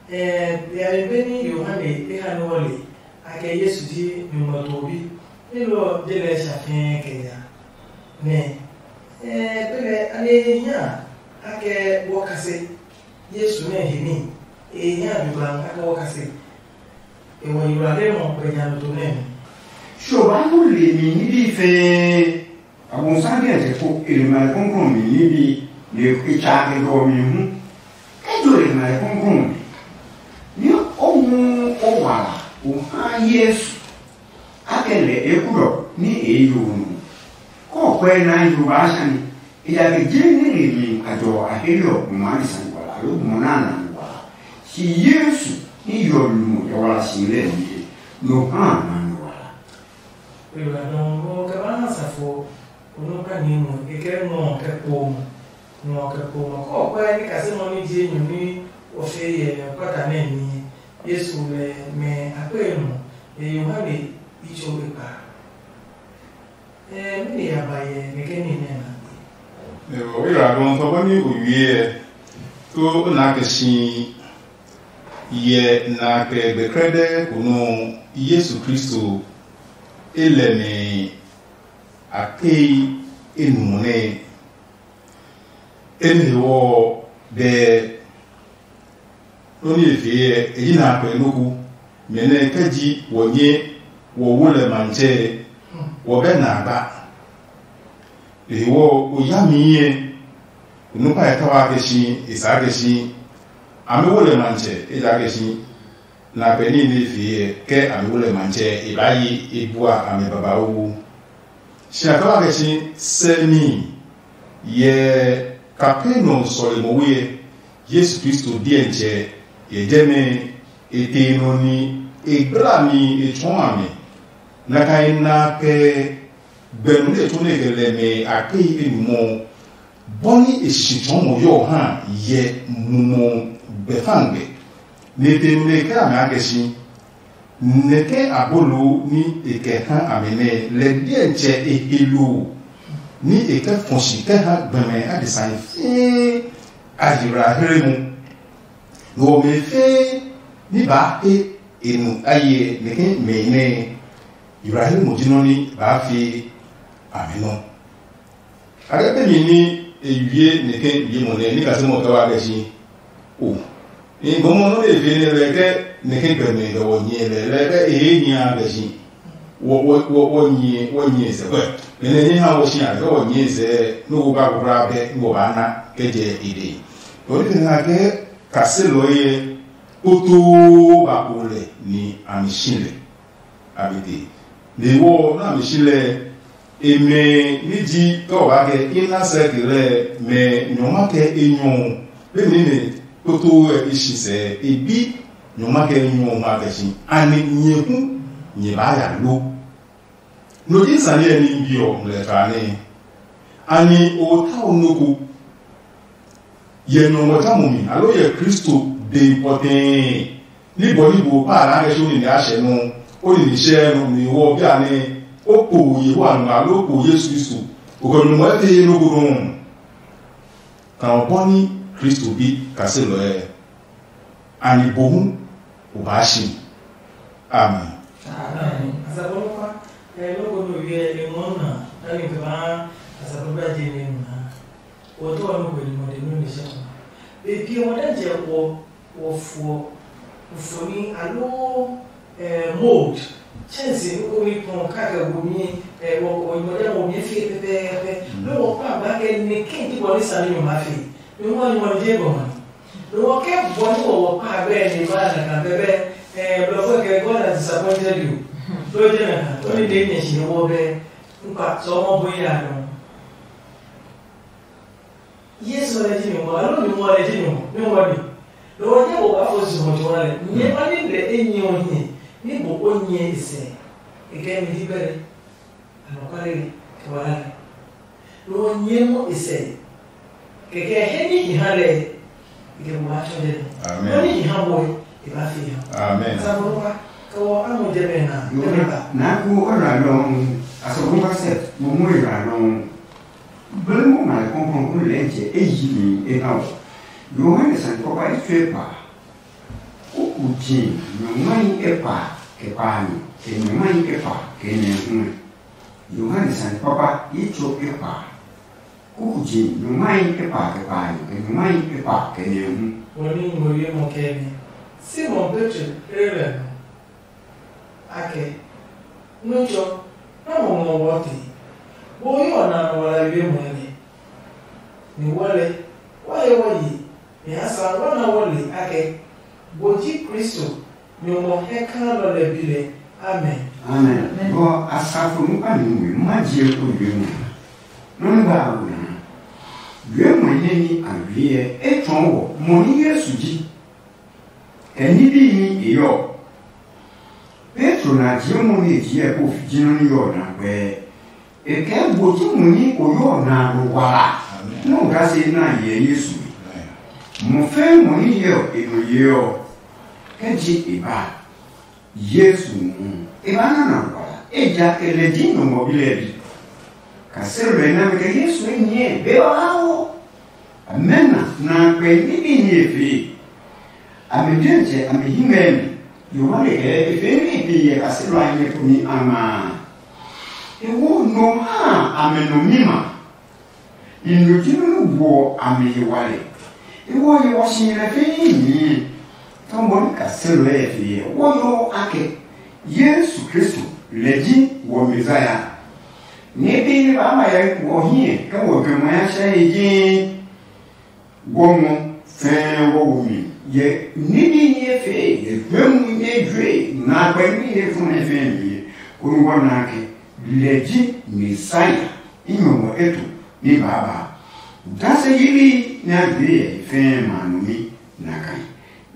Ɛɛ yare be ní Yohane e ha ní wɔle a kɛ Yesu ji nyuŋmɔ too bi. Ní lɔ je lɛ sha fɛɛ kɛ ya. Nɛ ɛɛ be lɛ a ne hia a kɛ wɔ kase Yesu nɛ he ní. E hia bi gba a kɛ wɔ kase. E wɔ yiwlale mɔ kpɛ nya nɔ to nɛ mi. Tso ba nu le mi ní bí fɛɛ. Abonsam kɛ tɛ ko e le ma kɔnkɔn mi ní bi ne e tsa ke dɔ mi hu. Ke jo le ma kɔnkɔn mi ni o hu o wala o ha Yesu a kɛ lɛ e kulɔ ni e yo nu. Kɔ kwɛ na yo ba sani e ya ke je ni le mi a jɔ a he lɔ ma ni sani wala lo mo na na wala. Si Yesu ni yo lu mo ya wala si le mi no ha na ni wala. Kpelɔ a dɔɔ nɔ kɛ ba ha safo o nɔ ka ni mo e kɛ ngɔ kɛ kpo mo ngɔ kɛ kpo mo kɔ kɔ ya ni kase nɔ ni je nyɔ ni o fe yɛ kɔta nɛ ni Yesu lɛ mɛ akpe nɔ e Yohane itso e kpa. Ɛ mi ni ya ba yɛ nɛ kɛ ni nɛ na. Ewɔ ira dɔn tɔ bɔ ni o wie ɛ to o na kɛ si yɛ na kɛ gbɛkrɛdɛ ko nɔ Yesu Kristo e lɛ mɛ akei enumɔ nɛ. Enɛ hewɔ dɛ nɔ ni e fee ɛ e yi na akpɛ noko mɛ nɛ kɛ ji wɔ nyɛ wɔ wo lɛ mantsɛ wɔ bɛ na gba. Lehewɔ o ya mi yɛ o nukpa e ta wa kɛ si e sa kɛ si amɛ wo lɛ mantsɛ e ja kɛ si. Nɛ a pɛ níhi nɛ e fee ɛ, ke a mi wo lɛ matsɛ e baa ye e bua a mi babauu. Si a kɛ wa kɛ si sɛ níhi yɛ Kapernaum sɔlemi we ɛ, Yesu Kristo diɛtsɛ yɛ jɛmɛ e te nɔ ni e gbla mi e tsɔɔ a mi. Nɛ a ka e na kɛ gbɛnu nɛ e tsu nɛ e kɛ lɛ mɛ a kpehi enumɔ ɔ, bɔ ni e sisi tsɔɔ mo yɔɔ ha yɛ mumɔ gbɛfangbe. Nɛ e te nɛ e kɛ amɛ a kɛ si, nɛ ke abolo ni e kɛ ha amɛ nɛ lɛ diɛtsɛ e he lo. ní e kɛ fɔ si kɛ ha gbɛmɛ adesai fɛɛ a yiblaahi mu. Nɛ ɔ mɛ fɛɛ ní baa he e nu a ye nɛ ke mɛ nɛ yiblaahi mu ji nɔ ní baa fi amɛ nɔ. A kɛ pemi ní e wie nɛ ke wie mo nɛ ní kase mo kɛ wa kɛ si o. Ni gɔmɔ nɔ de fe nɛ lɛ kɛ nɛ ke gbɛmɛ kɛ wɔ nyɛ lɛ lɛ kɛ e he nya kɛ si. Wɔ wɔ wɔ wɔ nyɛ wɔ nyɛ sɛ kwɛ. Mɛ nɛ nyɛ ha wɔ si a kɛ wɔ nyɛ sɛ nɔ ko ba ko kura bɛ nɔ ba na kɛ jɛ e de. Ɔ ni na kɛ kaselɔ yɛ kpotoo ba ko lɛ ni a mi si lɛ. A mi te. Ni wɔ na mi si lɛ e mɛ ni ji kɛ o ba kɛ ina sɛ ke lɛ mɛ nyɔma kɛ e nyɔ be mi ne kpotoo ɛ e si sɛ e bi nyɔma kɛ e nyɔ ma kɛ si ani nyɛ hu nyɛ ba ya lo. No ji sane ɛ ni bi ɔ ngmlɛ tsa ne ani o ta o noko yɛ nɔmɔ ta mo mi alo yɛ Kristo de pɔtɛɛ ni bɔ ni bo pa a na kɛ so ni a hyɛ nɔ o ni ni hyɛ nɔ ni wɔ bi a ne o kpo Yehowa nɔ alo o kpo Yesu Kristo o kɛ nɔmɔ ɛ te ye noko nɔ. Ka o bɔ ni Kristo bi kaselɔ ɛ ani bo hu o baa si. Amen. Amen. Asafo no fa, eh, no ko no wie e mo na, ani ke ba asafo ba je ne na. Wo to no ko ni mo de no ni se. Be pie mo dan je wo wo fo fo ni alo eh mold. Chance ni ko ni pon ka ke wo mi eh wo wo mo de wo mi fi pepepe. No wo pa ba ke ni kin ti bɔ ni sa ni mo ma fi. Mi mo ni mo je bɔ ma. Nɔ ɔ ke bɔ ní wɔwɔ kpa abɛ ni ba na kan bɛbɛ eh blɔ ko ke God has disappointed you. Ló jɛ na kan, ó ní de nyɛ shi wɔ bɛ nkpa sɔ mɔ bo ya nɔ. Yesu lɛ ji nyɔmɔ, alo nyɔmɔ lɛ ji nyɔmɔ, nyɔmɔ ni. Nɔ ɔ nyɛ wɔ ba fo si mɔ jɔ lɛ. Nyɛ ba ni lɛ e nyɛ ɔ nyɛ, ni bo o nyɛ e sɛ. E kɛ mi di bɛrɛ. Anɔkwale nɛ, kɛ wala nɛ. Nɔ ɔ nyɛɛ mɔ e sɛ. Kɛkɛ he ní hi ha lɛ, e kɛ mo ha tsɔ jɛ nɔ. Nɔ ní hi ha bɔe, e ba fi ha. Amen. Asafo no pa, kɛ wɔ amo jɛ mɛ na, jɛ mɛ ba. Na ko ora long, asafo pa sɛ, mo mo ora long. Bele mo ma le kɔnkɔn ko lɛ jɛ e yi mi e na o. Yohane san kɔba e tsue pa. Kuku ji nyɔngmai ekpa kɛ kpaanyɔ, kɛ nyɔngmai ekpa kɛ nɛ hu. Yohane sane papa yi tso ekpa. Kuku ji nyɔngmai ekpa kɛ kpaanyɔ, kɛ nyɔngmai ekpa kɛ nɛ hu. Wɔ ní ngmɔ ye mɔ kɛ mi. Simon Petro ere lɛ nɔ. Akɛ, Nɔtsɔ, na mo ngɔ wɔ te. Wo yi ɔ na nɔ wala wie mɔ nɛ. Ni wɔ lɛ, wɔ ye wɔ yi. Nyɛ ya sa wa na wɔ le akɛ, bo ji Kristo, Nyɔmɔ hɛ kaa nɔ lɛ bi lɛ. Amen. Amen. Bɔ asafo nu a nu we ma je ko yue mu. Nɔ ni ba a wo na. Yue mu ne ni a wie ɛ e tsɔɔ wɔ mɔ ni Yesu ji. Kɛ ni bi ni e yɔ. Petro na je mɔ ni e ji ɛ ko fi ji nɔ ni yɔ na gbɛ. E kɛ gbo ji mo ní o yɔ na lo wala. Nɔ ga se na yɛ Yesu. Mo fɛ mo ní yɛ e no ye ɔ. Kɛ ji e ba. Yesu mu. E ba na na lo wala. E ja ke lɛ ji no mo bi lɛ bi. Ka se lɛ na me kɛ Yesu e nyɛ be ɔ ha wo. Amena na kpɛ ni bi ni e fee. A mi diɛtsɛ a mi hi ngɛ mi. Yohane kɛ e fee mi bi yɛ kaselɔ a nyɛ ko mi a ma. E wo no ha a mi no mi ma. I no ji nunu woɔ a mi yi wale. E wo ye wɔ si lɛ fee mi. Tɔmɔ ni kaselɔ lɛ fee wo yo akɛ Yesu Kristo lɛ ji wɔ Mezaya. Ni bi ni ba ma yɛ wɔ hiɛ kɛ wɔ gbɛ mo ya sɛ yi ji. Wɔ ngɔ fɛɛ wɔ wo mi yɛ nibi nyɛ fee yɛ jue mu nyɛ jue na gbɛ mi yɛ fun ɛ fɛɛ mi yɛ konu wɔ na ke lɛ ji Messiah i nyɔ wɔ eto ni baaba. Dase yili nya jue yɛ fɛɛ ma no mi na kai.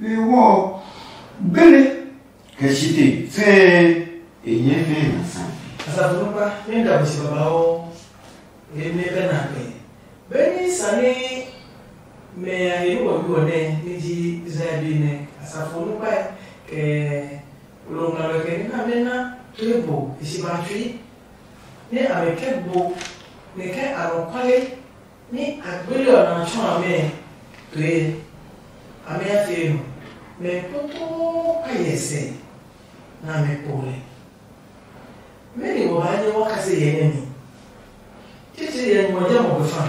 We wɔ gbele Kɛ site fɛɛ e nyɛ fɛɛ na sa. Asafo nukpa nɛ da bɔ si babauu, e nɛ pɛ na pɛ. Benɛ sane mɛ a he nɛ wɔ bi wɔ nɛ, nɛ ji Israel bi nɛ, asafo nukpa kɛ lɔngɔlɔ kɛ nina mɛ na to e bo e si ba tsui. Nɛ a mi kɛ gbo Nɛ ke anɔkuale nɛ a gbele ɔ na tsɔ amɛ pee, amɛ ya fee nɔ, mɛ kpotoo a yɛ sɛ nɛ amɛ po lɛ. Mɛni wɔ baa nyɛ wa kase yɛ nɛ mi? Titiri yɛ nyuɔ jɛ mɔ be fa.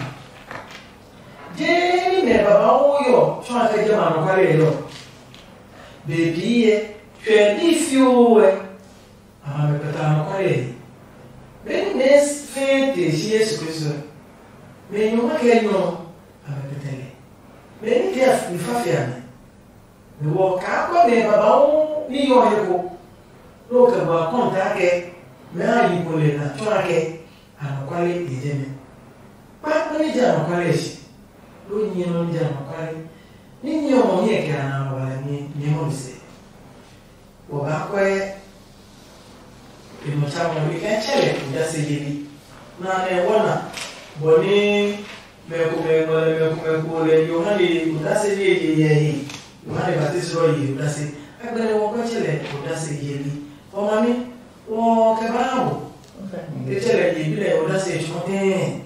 Jeee mɛ babauu yɔ tsɔ a kɛ jɛ ma anɔkuale yɛ yɔ. Be pii yɛ, tswɛ ní fioo wɛ, a ma mɛ kpɛta anɔkuale yɛ. Benɛ mɛ fɛɛ te si Yesu Kristo ɛ, mɛ nyɔ ma kɛ nyɔ a mɛ kpɛtɛ lɛ. Mɛ ní tɛ mi fa fia mi. Mɛ wɔ kaa kɔ mɛ babauu ní yɔ he ko. Nɔ kɛ bua kɔnta kɛ mɛ a yi ko lɛ na tsɔ a kɛ anɔkuale e jɛ mɛ. Kpa nɔ ní jɛ anɔkuale shi. Ló nyɛ nɔ ní jɛ anɔkuale. Ní nyɛ ɔ mɔ hiɛ kɛ a na wa lɛ nyɛ mɔ mi sɛ. Wɔ baa kɔɛ e nɔ tsa mɔ mi kɛ tsɛ lɛ kɛ ja se yeli. Na nɛ wɔ na bɔ ní mɛ komɛ ngɔ lɛ mɛ komɛ ko lɛ Yohane odase ye ye yɛ he. Yohane Baptist ɔ ye odase. Agbɛnɛ wɔ kɔɛ tsɛ lɛ odase yeli. Wɔ ma mi wɔ kɛ ba na wɔ. Ke tsɛ lɛ ye bi lɛ odase tsɔ tɛɛ.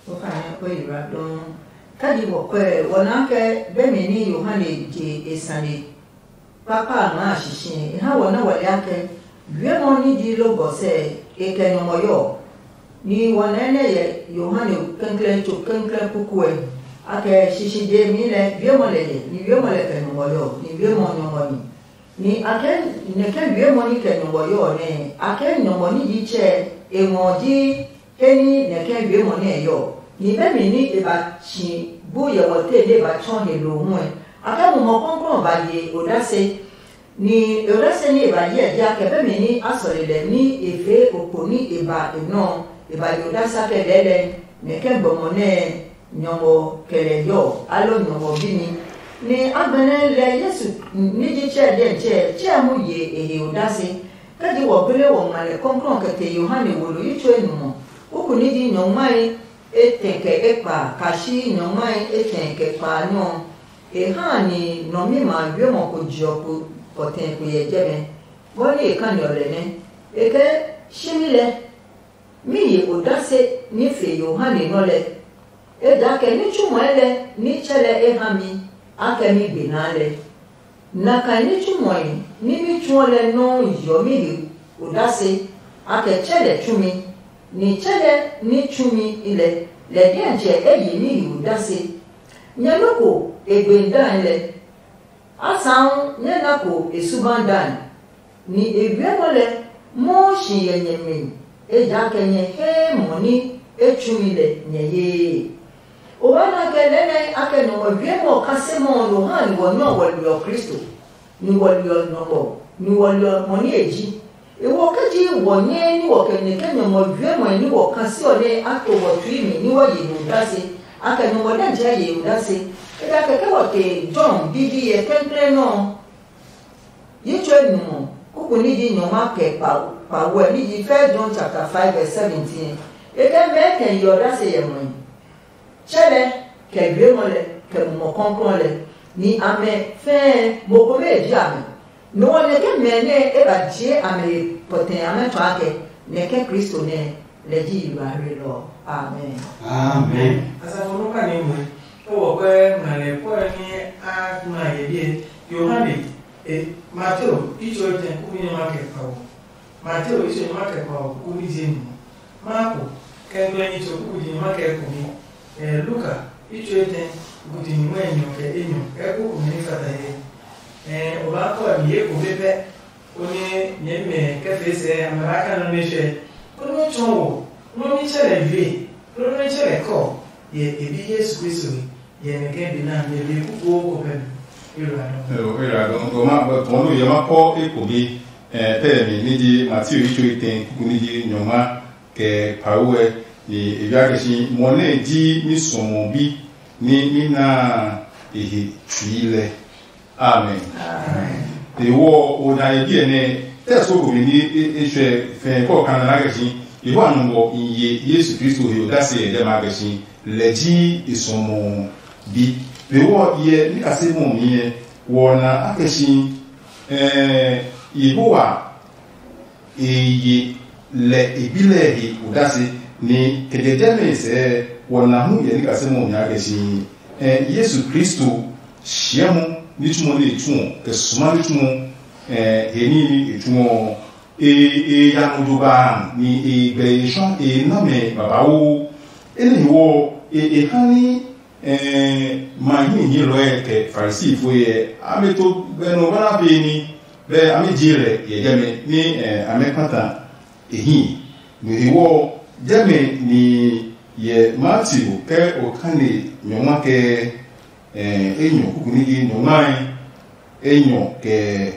Wɔ fa nyɛ kɔɛ yi ra dɔn. Ka ji wɔ kɔɛ wɔ na kɛ bɛ mi ní Yohane je e sane. Kpakpa a maa shishiɛ e ha wɔ nɛ wɔ le akɛ wiemɔ ní ji logɔ sɛ e kɛ nyɔmɔ yɔ. Nihi wɔ nɛ nɛ yɛ Yohane kɛnklɛn tso kɛnklɛn kukuɛ, a kɛ shishije mi lɛ wiemɔ lɛ yɛ, ni wiemɔ lɛ kɛ nyɔmɔ yɔ, ni wiemɔ nyɔmɔ ni. Ni a kɛ nɛ kɛ wiemɔ ní kɛ nyɔmɔ yɔ ɔ nɛ a kɛ nyɔmɔ ní ji tsɛ e ngɔ ji he ní nɛ kɛ wiemɔ nɛ e yɔ. Ni be mi ní e ba tsi bu yɛ wɔ te nɛ e ba tsɔ he lo hu ɛ, a kɛ Mumɔ Klɔuklɔu ba ye odase. Ni e odase ní e ba hyɛ dia kɛ be mi ní a sɔle lɛ ní e fee okpo ní e ba e nɔ ɔ, e ba yo odase kɛ lɛɛ lɛ nɛ kɛ gbɔmɔ nɛ nyɔngɔ kɛ lɛ yɔ alo nyɔngɔ bimi. Ni a gbɛnɛ lɛ Yesu ní ji tsɛ dɛ tsɛ tsɛ hu ye e he odase. Kɛ ji wɔ gbele wɔ ngma lɛ kɔklɔ kɛ te Yohane wo lo yi tsuo enumɔ, kuku ní ji nyɔngmae etɛ kɛ ekpa kashi nyɔngmae etɛ kɛ kpa nyɔ. E ha ni nɔmi ma wiemɔ ko jiɔ ko pɔtɛ ko yɛ jɛmɛ, bɔ ni e kani ɔ lɛ nɛ. E kɛ shimi lɛ mi ye odase ní fe Yohane nɔ lɛ, ejakaa ní tsumɔe lɛ ní tsɛ lɛ e ha mi akɛ mi gbe naa lɛ. Nakai ní tsumɔe ní mi tsuɔ lɛ nɔuu yeɔ mi he odase akɛ tsɛ lɛ tsumi, ni tsɛ lɛ ní tsumi lɛ lɛ diɛtsɛ e ye mi he odase. Nyɛ nɔ́ ko e gbe dae lɛ, asaŋu nyɛ na ko e suba dae, ni e wiɛ nɔ́ lɛ mɔɔ si yɛ nyɛ mi, ejakaa nyɛ hee mɔ ní e tsumi lɛ nyɛ yee. O wa na kɛ lɛɛ nɛ a kɛ nɔmɔ wiɛ mɔ ɔ kase mɔ ɔ no ha ni wɔ nyɔ wɔ liɔ Kristo, ni wɔ liɔ nɔmɔ, ni wɔ liɔ mɔ ní e ji. E wo ke ji wɔ nyɛɛ ní wɔ kɛ nɛ ke nyɔmɔ wiɛ mɔe ní wɔ kase ɔ nɛ a to wɔ tui mi ní wɔ ye he odase, a kɛ nyɔmɔ lɛ jɛ ye he odase. Kɛkɛ kɛkɛ wɔ te John bibi yɛ kɛnklɛn nɔ ɔ. Yi tsuo nu ɔ, kuku ní ji nyɔngma kɛ kpawɔɛ ní ji First John chapter five verse seventeen. E kɛ mɛɛ kɛ yi ɔ dase yɛ mɔe. Tsɛ lɛ, kɛ wiemɔ lɛ, kɛ Mumɔ Kɔklɔ lɛ, ni amɛ fɛɛ mo kome ji amɛ. Nɔ ɔ nɛ ke mɛ nɛ e ba jie amɛ he pɔtɛ amɛ tɔ akɛ nɛ ke Kristo nɛ lɛ ji yiblɔɔhe ɔ. Amen. Amen. Asafo no ka ni mu. Ke wɔ kɛ ngale kɔɛ ni a na ye die Yohane, e, Mateo itso etɛ kuku nyɛ ma kɛ kpawɔ. Mateo itso nyɛ ma kɛ kpawɔ kuku ni je nu. Marko kɛnklɛ itso kuku nyɛ ma kɛ kumi. Eh, Luka itso etɛ kuku nyɛ ma enyɔ kɛ enyɔ kɛ kuku ni fata ye. Eh, o ba kɔ ni ye ko be pɛ. Koni nyɛmimɛ kɛ fee sɛɛ amɛ ba ka nɔ nɛ hyɛ, konɛ o tsɔɔ wɔ nɔ ní tsɛ lɛ yue, loo nɔ ní tsɛ lɛ kɔ, yɛ e bi Yesu Kristo he, yɛ nɛ kɛ be na nyɛ be kukuo ko pɛ mi. Ero a nɔ. Ero ero a dɔn dɔn ma bɛ tɔn lo yɛ ma kɔ eko bi. Ɛ pɛ mi ni ji Matthew yi tso ite kuku ni ji nyɔma kɛ pawo ɛ ni e bia kɛ si mɔ nɛ ji mi sɔmɔ bi ni mi na e he tsui lɛ. Amen. Ewɔ o na ye biɛ nɛ tɛ so ko mi ni e tsɛ fɛ kɔ kan na kɛ si. Yehowa nɔ bɔ in ye Yesu Kristo he odase yɛ dɛ ma kɛ si lɛ ji e sɔmɔ bi. Ewɔ yɛ ni kase mɔ mi yɛ wɔ na akɛ si eh Yehowa e ye lɛ e bi lɛ he odase. Ni kɛ jɛjɛ nɛ e sɛɛ wɔ na hu yɛ ní kasɛ mɔ nya kɛ si, ɛ Yesu Kristo shiɛ mɔ ní tsumɔ ní e tsuɔ kɛ suma ní tsumɔ, ɛ he ní ní e tsuɔ ɔ, e e ya nɔ jo ba ni e gbɛ e shɔ e na mɛ babauu. Enɛ hewɔ ɔ, e e ha ní ɛ ma hihielɔɛ kɛ Farisifoi ɛ, a mɛ to gbɛ nɔ ba na pe ní bɛ a mɛ je lɛ yɛ jɛmɛ ní ɛ a mɛ kpata e hii. No hewɔ ɔ, jɛmɛ ni yɛ Mateo kɛ okane nyɔngma kɛ ɛ enyɔ kuku ní yi nyɔngmae enyɔ kɛ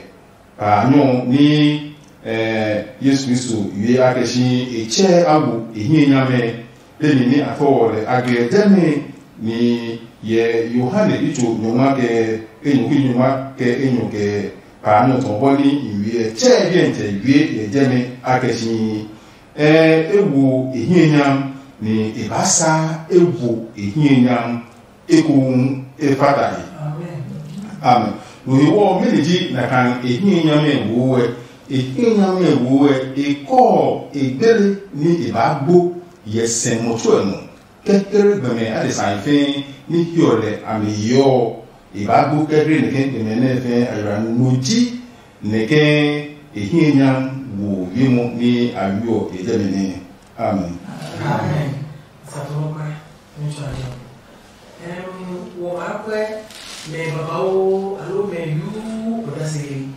pa nyɔ ní ɛ Yesu Kristo yue a kɛ si e tsɛ a wo e hiɛ nyamɛ. Pemi ní a fɔ wɔ lɛ a gɛ jɛmɛ ni yɛ Yohane itso nyɔngma kɛ enyɔ ki nyɔngma kɛ enyɔ kɛ pa nyɔ tɔ bɔ ní yue tsɛ biɛntsɛ yue yɛ jɛmɛ a kɛ si ɛ e wo e hiɛ nyam ni e ba sa e wo e hiɛ nyam ekohu e fata he. Amen. No hewɔ ɔ, mɛni ji nakai e hiɛ nyamɛ wo ɛ? E hiɛ nyamɛ wo ɛ e kɔɔ e gbele ní e baa gbo yɛ sɛ mɔ tsuɛ nɔ kɛkɛrɛ gbɛmɛ adesa fɛɛ ní hiɔ lɛ a mi yeɔ ɔ. E baa gbo kɛkɛrɛ nɛkɛ gbɛmɛ nɛ fɛɛ a ywaa no ji nɛkɛ e hiɛ nyam wo ye mɔ ní a wiɔ e jɛmɛ nɛ. Amen. Amen. Sato mo kpɛ. Ŋutsu a yɔ. Ɛm, wɔ maa kwɛ mɛ babauu alo mɛ yuu odase yeli.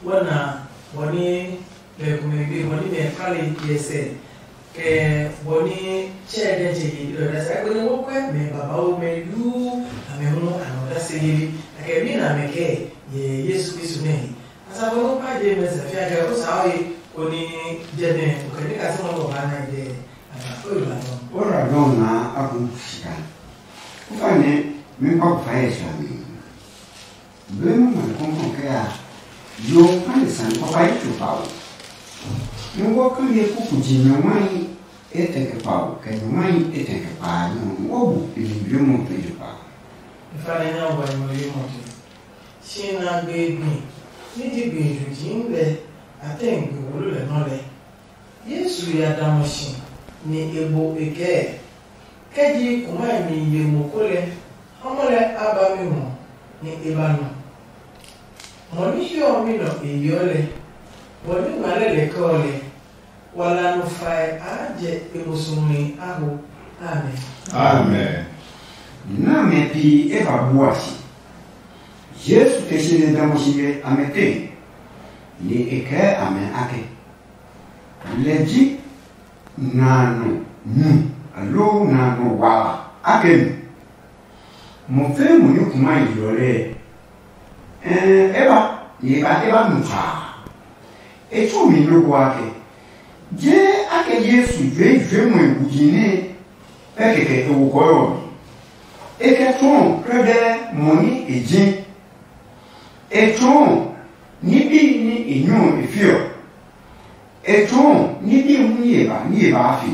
Wɔ na bɔ ní mɛ komɛ gbe bɔ ní mɛ kpale yɛsɛ kɛ bɔ ní tsɛ dɛ tsɛ yeli odase. Akpe nɛ wɔ kwɛ mɛ babauu mɛ yuu amɛ hu a nɔ odase yeli. Akɛ mi na mɛ kɛ yɛ Yesu Kristo nɛ he. Asafo nɔ kpa je mɛ sɛ fia kɛ o saa ye koni jɛ nɛ o kɛ ní kasɛ mɔ nɔ ba na jɛ. Ora dɔn na a kun sika. Kufa ne mi pa kufa ye sha mi. Benu ma kɔnkɔn kɛ a yo ka ne san papa yi tso pa o. Ni wo ka ye kuku ji nyɔmai e tɛ kɛ pa o kɛ nyɔmai e tɛ kɛ pa nyɔ wo bu ni bi mo pe tso pa. Ifa ne nya wa nyɔ yi mo ti. Shi na gbe gbi ni ji gbi ju ji lɛ a tɛ gbi wolo lɛ nɔ lɛ. Yesu ya damɔ si, nɛ e bo e kɛɛ, kɛ ji kumɛ mi ye mo ko lɛ, ha mɔ lɛ a ba mi ngɔ, nɛ e ba nɔ. Mɔ ní hiɔ mi nɔ e yeɔ lɛ, bɔ ní ngma lɛ lɛ kɛɔ lɛ, wala nɔ fae a jɛ e musuhi a ho. Amen. Amen. Nami pi e ba bua si. Yesu te si nɛ damɔ si ngɛ amɛ te, nɛ e kɛɛ amɛ ake. Lɛ ji nano nu aloo nano wala ake nu. Mo fɛɛ mo ni kuma yi ɔ lɛ, ɛɛ e ba ni e ba e ba nu tsaa. E tsu mi loko ake. Je ake Yesu jue jue mo e wuji nɛ pɛ kɛkɛ e wo kɔɔyɔ mi. E kɛ tsɔɔ kɛdɛɛ mo ni e ji. E tsɔɔ ní bí ní e nyɔ e fiɔ. E tsɔɔ ní bí hu ní e ba ní e baa fi.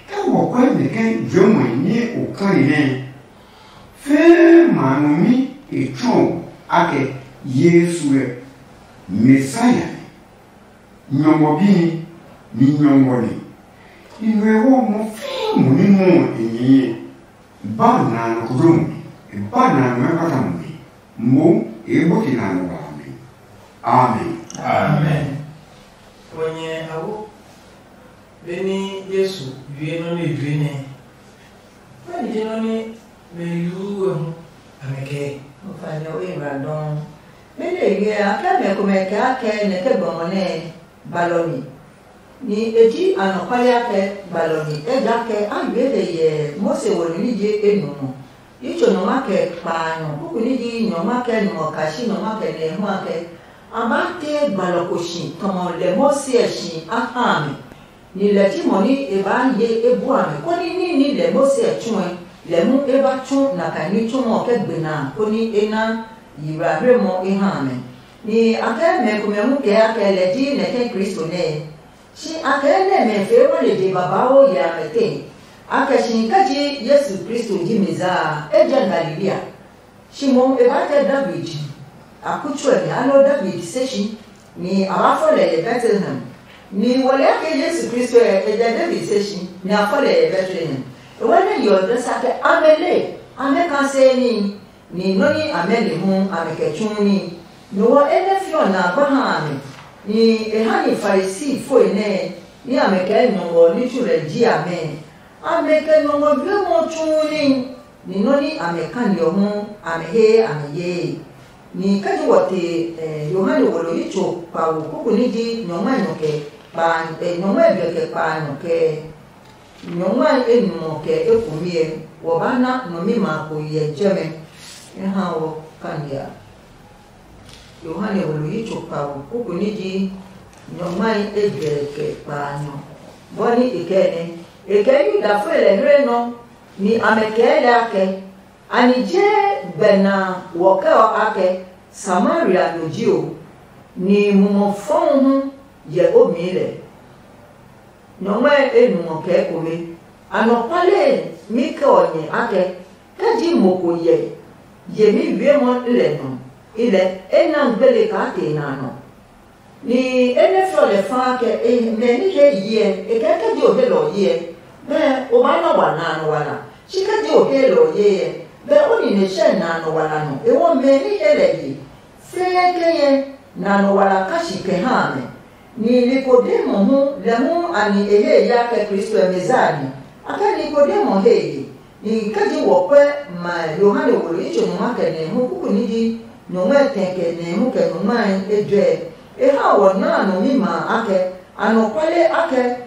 Ke wɔ kɔɛ mɛ ke juɛmɔe ní o kani nɛ fɛɛ ma nɔ mi e tsɔɔ akɛ Yesu ɛ Mesia ɛ, nyɔngɔ bi ni, ni nyɔngɔ ni. Ni nɔ ɛ wɔ mɔ fɛɛ mo ní mɔ e nyɛɛ. Ba na nɔ ko dro mo, ba na nɔ ɛ kpata mo mi. Mo e bɔ ke na nɔ wa mi. Amen. Amen. Wɔ nyɛ awo, benɛ Yesu wie nɔ nɛ jue nɛ, mɛni ji nɔ nɛ mɛ yuu ɛ hu a mɛ kɛɛ? Nufanyɛ o yi ba dɔɔ. Benɛ e wie a kɛ mɛ komɛ kɛ a kɛ nɛ ke gbɔmɔ nɛ gbalɔ mi. Ni e ji anɔkuale akɛ gbalɔ mi, ejakaa a ngbe lɛ yɛ Mose wɔ nɔ ní je enuɔ. Yi tso nɔ ma kɛ kpaanyɔ, kuku ní ji nyɔ ma kɛ nuɔ kashi nɔ ma kɛ nɛ hu akɛ a maa tee gbalɔ ko shi tɔmɔ lɛ Mose ɛ shi a ha a mi. Ni lɛ ji mɔ ní e baa ye e bua mɛ, koni ní ní lɛ Mose ɛ tsuɛ, lɛ hu e ba tsu nakai ní tsumɔ kɛ gbe na, koni e na yiblahlemɔ e ha amɛ. Ni a kɛ mɛ komɛ hu kɛ akɛ lɛ ji nɛ ke Kristo nɛɛ. Shi a kɛ nɛ mɛ fee wale je babauu yɛ amɛ tee. A kɛ shi kɛ ji Yesu Kristo ji Mesia a, e jɛ Galilea. Shi mohu e baa kɛ David a kutsuɛ mi aloo David se shi, ni a ba fɔ lɛ yɛ Betlehem, Ni wɔli ake Yesu Kristo ɛ e jɛ David se si, nɛ a fɔ lɛ yɛ Betlehem. E wɛ nɛ yɔ dɛ sa ke amɛ le, amɛ ka se ní, ni nɔ́ ní amɛ le hu amɛ kɛ tsu ní. Nɔ ɔ enɛ fi ɔ na gba ha amɛ, ni e ha ni Farisi foi nɛ ní amɛ kɛ nyɔngɔ ní tsu lɛ ji amɛ. Amɛ kɛ nyɔngɔ juɛmɔ tsu ní, ni nɔ́ ní amɛ kani ɔ hu amɛ he amɛ yee. Ni kɛji wɔ te Yohane wolo yi tso kpawo kuku ní ji nyɔngmai nɔ kɛ kpa nyɔngmai blɛ kɛ kpa nɔ kɛ nyɔngmai enumɔ kɛ ekumi ɛ, wɔ ba na nɔmima ko yɛ jɛmɛ. E ha wɔ kani a. Yohane wolo yi tso kpawo kuku ní ji nyɔngmai egbɛ kɛ kpaanyɔ. Bɔ ní e kɛ nɛ e kɛ Yudafɔi lɛ hlɛ nɔ, ni amɛ kɛɛ lɛ akɛ, anyi je gbɛ na wɔ kɛ ɔ akɛ Samaria no ji o, ni mumɔ fɔu hu yɛ o mii lɛ. Nyɔngmai enumɔ kɛ ekome. Anɔkuale mi kɛ ɔ nyɛ akɛ, ke ji mo ko yɛ yemi wiemɔ lɛ nɔ, i lɛ e na gbele kaa te na nɔ. Ni e nɛ fiɔ lɛ faa kɛ e mɛ ní he yiɛ e kɛ ke ji o he lɛ ɔ yiɛ, mɛ o maa nɔ wa na nɔ wala. Shi ke ji o he lɛ ɔ yiɛ, mɛ o nine hyɛ na nɔ wala nɔ. E wɔ mɛ ní he lɛ yi fɛɛ ke nyɛ na nɔ wala ka shi kɛ ha amɛ. Ni Nikodemo hu, lɛ hu a ni e he ya kɛ Kristo ɛ Mesia ni. A kɛ Nikodemo he e ye. Ni kɛji wɔ pɛ ma Yohane wo lo itso nyɔngma kɛ nɛ hu kuku ní ji nyɔngmɛ tɛ kɛ nɛ hu kɛ nyɔngmae ejɔɛ, e ha wɔ naa nɔ mi ma a kɛ anɔkuale a kɛ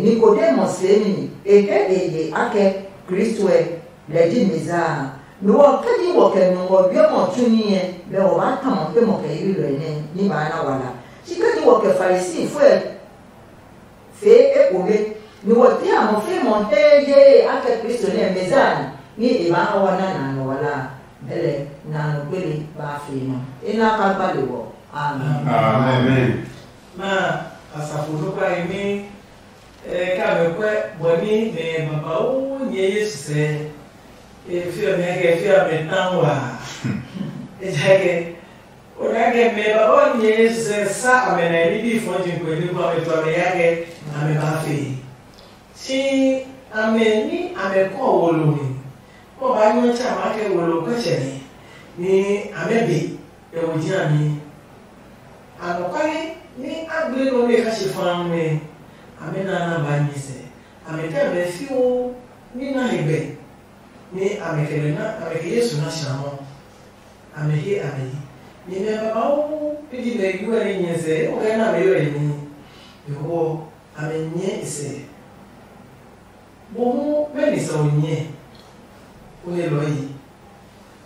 Nikodemo seemi ni e he e ye a kɛ Kristo ɛ lɛ ji Mesia a. Lo ɔ, kɛji wɔ kɛ nɔ ngɔ wiɛ mɔ tsu níɛ, lɛ wɔ baa ta mɔ ke mɔ kɛ yirilɔe nɛ ní baa na wala. Shi kɛji wɔ kɛ Farisi fue fee ekome, ni wɔ ti amɔ fe mɔ hee yee a kɛ Kristo nɛ Mesia ni, ní e baa ha wa na na nɔ wala a, bɛlɛ na nɔ gbele baa fee nɔ. E na ka gbali wɔ. Amen. Amen. Ma asafo nukpa yi mi. Ɛ ka mɛ kwɛ bɔ ní mɛ babauu nyɛ Yesu sɛ. E fi ɔ mɛ kɛ fi ɔ mɛ tan wa. Ejaakɛ o na kɛ mɛ babauu nyɛ Yesu sɛ sa amɛ na ní bí fɔn jin kwɛ ní kó amɛ tu amɛ ya kɛ amɛ ba fe. Si amɛ ní amɛ kɔ wo lo mi. Kó ba nyɔ tsa ma kɛ wo lo kɔ tsɛ ni. Ni amɛ be. Ɛ wo ji ami. Anɔkwale ní a gble nɔ nɛ e kã shi fãa nɛ amɛ na na ba nyɛ sɛ. Amɛ tɛ mɛ fioo ní na he gbɛ ní amɛ kɛ lɛ na amɛ kɛ Yesu na sã mɔ. Amɛ he amɛ yi. Nyɛmɛ babauu pi ji mɛ yu ɛ ní nyɛ sɛ e ko kɛ na amɛ yɔ e ní. Yehowa amɛ nyɛ e sɛ. Mohu mɛni sɛ o nyɛ? O he lɔ yi.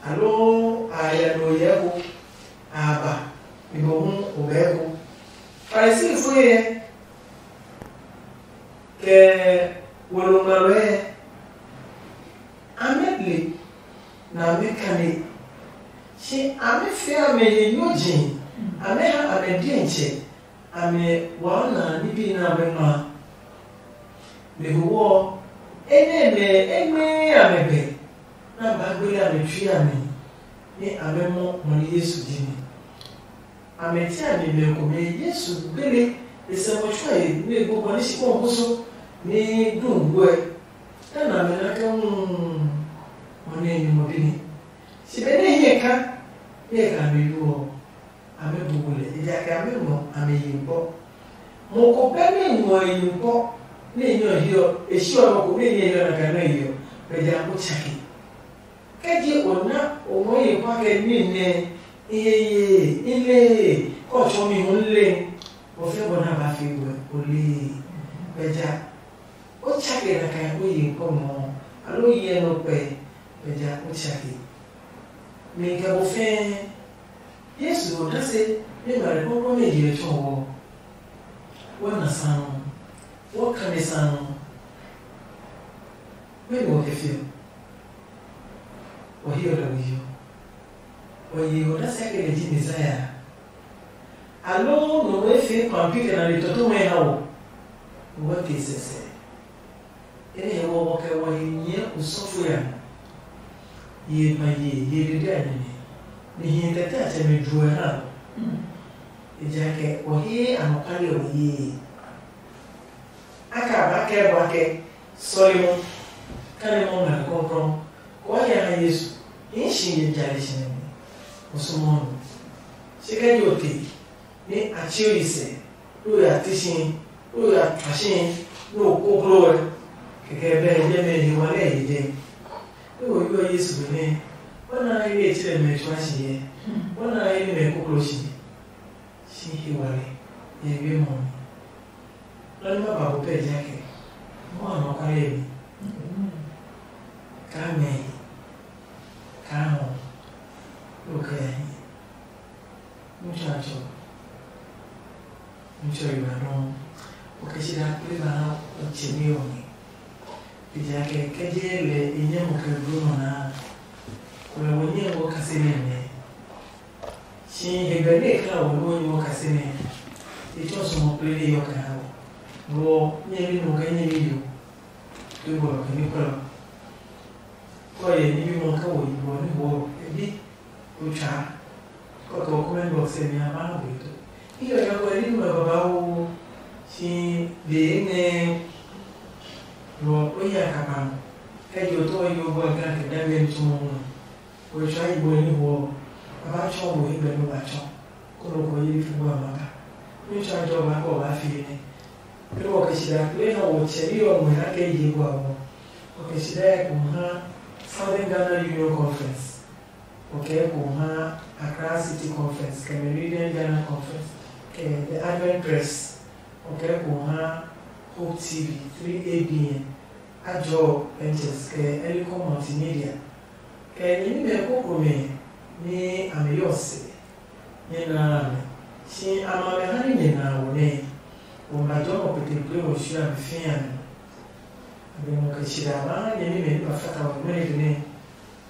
Aloo a ya nɔ yɛ ko a ba mi mohu o bɛ ko. Farisifo yɛ kɛ wolo ngmalɔɛ amɛ le na amɛ kane. Shi amɛ fia amɛ he nyɔji amɛ ha amɛ diɛntsɛ. Amɛ waa na nibi nɛ amɛ ngma. Mɛ ko wɔ enɛ mɛ e ngmɛɛ amɛ bɛ nɛ a baa gbele amɛ tsui amɛ nɛ amɛ mɔ mɔ nɛ Yesu ji mi. Amɛ ti amɛ mɛ komɛ Yesu gbele e sɛ mɔ tsɔe nɛ e gbogbo ní shi kpɔn koso ní du nguɛ. Tana amɛ na kɛ hu mɔ nɛ e nyumu bi ni. Shi benɛ e hiɛ ka nɛ e ka amɛ yu ɔ, amɛ bu bulɛ, ejakaa amɛ ngɔ amɛ yi kpɔ. Mo ko bɛ nɛ ngɔ e yi kpɔ nɛ e nyɛ ɔ hiɔ e shi ɔ nɔ ko nɛ e nyɛ hiɔ na ka nɔ e yi ɔ, bɛ ja ko tsake. Kɛ je o na o ngɔ ye kpa kɛ ní nɛ i he ye i le kɔ tsɔ mi hu le, o fɛ bɔ na ba fi wɛ o le. Bɛ ja o tsake na ka o yi kpɔ mɔ alo yɛ nɔ kpɛ. Bɛ ja o tsake. Mi kɛ bo fɛɛ Yesu odase nɛ ngmale kpɔkpɔ nɛ je ɔ tsɔ wɔ. Wɔ na sã nɔ, wɔ kane sã nɔ. Mɛni wɔ kɛ fiɔ? Wɔ hiɔ lɛ we hiɔ. Wɔ ye odase akɛ lɛ ji Mesia a? Aloo nɔ wɔ efee kpampi kɛ na le tɔtɔmɛ ha wɔ? Wɔ te sɛsɛ. Enɛ hɛ wɔ wɔ kɛ wɔ he nyɛɛ osɔfo ya nɔ. Ye ma ye ye dede a nine. Nihi tɛtɛ a tsɛmɛ juɛ ha. Ejaakɛ wɔ he anɔkwale ɔ yee. a kɛ a ba kɛ bua kɛ sɔle mɔ kane mɔ ngɛ kɔnkɔn kɔɔ ya ha Yesu. Hii shi ye jale shi nɛ mi o sumɔ nɔ. Se kɛ jo te ni a tsio yi sɛ, lo ya ti shi, lo ya twa shi, lo koklo ɛ. Kɛkɛ bɛ ye mɛ he wa lɛ ye jɛ. Lo wo yo Yesu be nɛ wona he ye tsirɛ mɛ tswa shi yɛ, wona he ni mɛ koklo shi. Shi he wa lɛ ye be mɔ mi. Lɔ ni ma ba bo pɛ ja kɛ mo a nɔ kwa ye mi. Ka mɛ yi ka hɔ lo kɛ ya hi. Ŋutsu a tsɔ, ŋutsu ɔ yi ba nɔ. O kɛ si da kple ba na o tse mi ɔ mi. Ejaakɛ kɛ je lɛ e nyɛ mo kɛ blo nɔ na. Ko lɛ wo nyɛ wo kase nɛ nɛ. Si he bɛ ne kla wo wo nyɛ wo kase nɛ. E tsɔ so mo kple ne yɔ kɛ ha wo. Wo nyɛ mi mo kɛ nyɛ mi yo. Ke wo lɔ kɛ mi kɔ lɔ. Kɔ ye ni bi mo kɛ wo yi wo ni wo e bi. Ko tsa. Kɔ kɛ wo comment box e mi a ba na bo to. Iyo ya ko ni mo baba wo. Si de ne. Wo o ya ka ba. Kɛ jo to yo bo ga ke da be ni tumo mo. Wetsɔa yi bɔ ni hwɔ ɔ, a ba tsɔ wo hegbe nɛ wa tsɔ, konɔ ko yi fi bua ma ka. Ní tsɔ a jɔ ba kɔ ba fi nɛ. Ke wɔ kɛ sida kple ha wɔ tsɛ yi ɔ ngmɛ ha kɛ yi bua wɔ. Wɔ kɛ sida yɛ ko ha Southern Ghana Union Conference. Wɔ kɛ ko ha Accra City Conference kɛ Meridian Ghana Conference kɛ The Advent Press. Wɔ kɛ ko ha Hope T V, three A B N, Ajɔ Ventures kɛ Elikon Multimedia. Kɛ nyɛmimɛ kpokpomɛ nɛ a mi yɔ se nyɛ naa amɛ, si a ma mɛ ha ní nyɛ naa wɔ nɛ. Wɔ ma jɔ mɔ petegbee wɔ sua mi fĩa mi. A bɛ mɔ kɛ tsi da ma ha nyɛmimɛ ní ma fata wɔ mɛnɛ gbe nɛ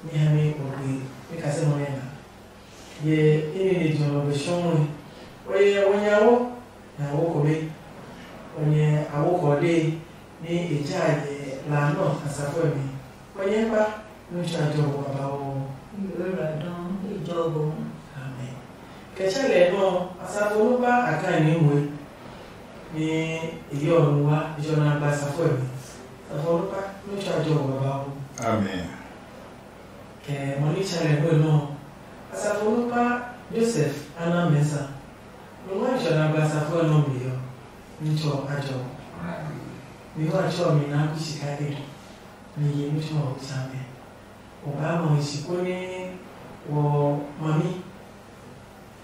ní ha ní wɔ gbe ní kasɛ mɔ nɛ na. Yɛ imi ni jɔ lɔ bɛ sɔmɔe. Wɔ yɛ wɔ nya wo na wo kome. Wɔ nyɛ a wo kɔ de. Ni e ja a nyɛ la nɔ asafo ɛ mi. Kɔ nyɛ kpa nu tsa jɔ bo babauu. Yola dɔn e jɔ bo. Amen. Kɛ tsɛ lɛ nɔ asafo nu kpa a ka ni ngwe. Ni e yɔ nu wa e jɔ na gba asafo ɛ mi. Asafo nu kpa nu tsa jɔ bo babauu. Amen. Kɛ mɔ ni tsa lɛ nɔ asafo nu kpa Joseph ana mɛsa. Nungua jɔ na gba asafo ɛ nɔ mi yɔ. Ŋtsɔ a jɔ. Mi wa tsɔ mi na ku sika ke. Mi ye ŋtsɔ o tsa mɛ. O ba mɔ si ko ni wo mami.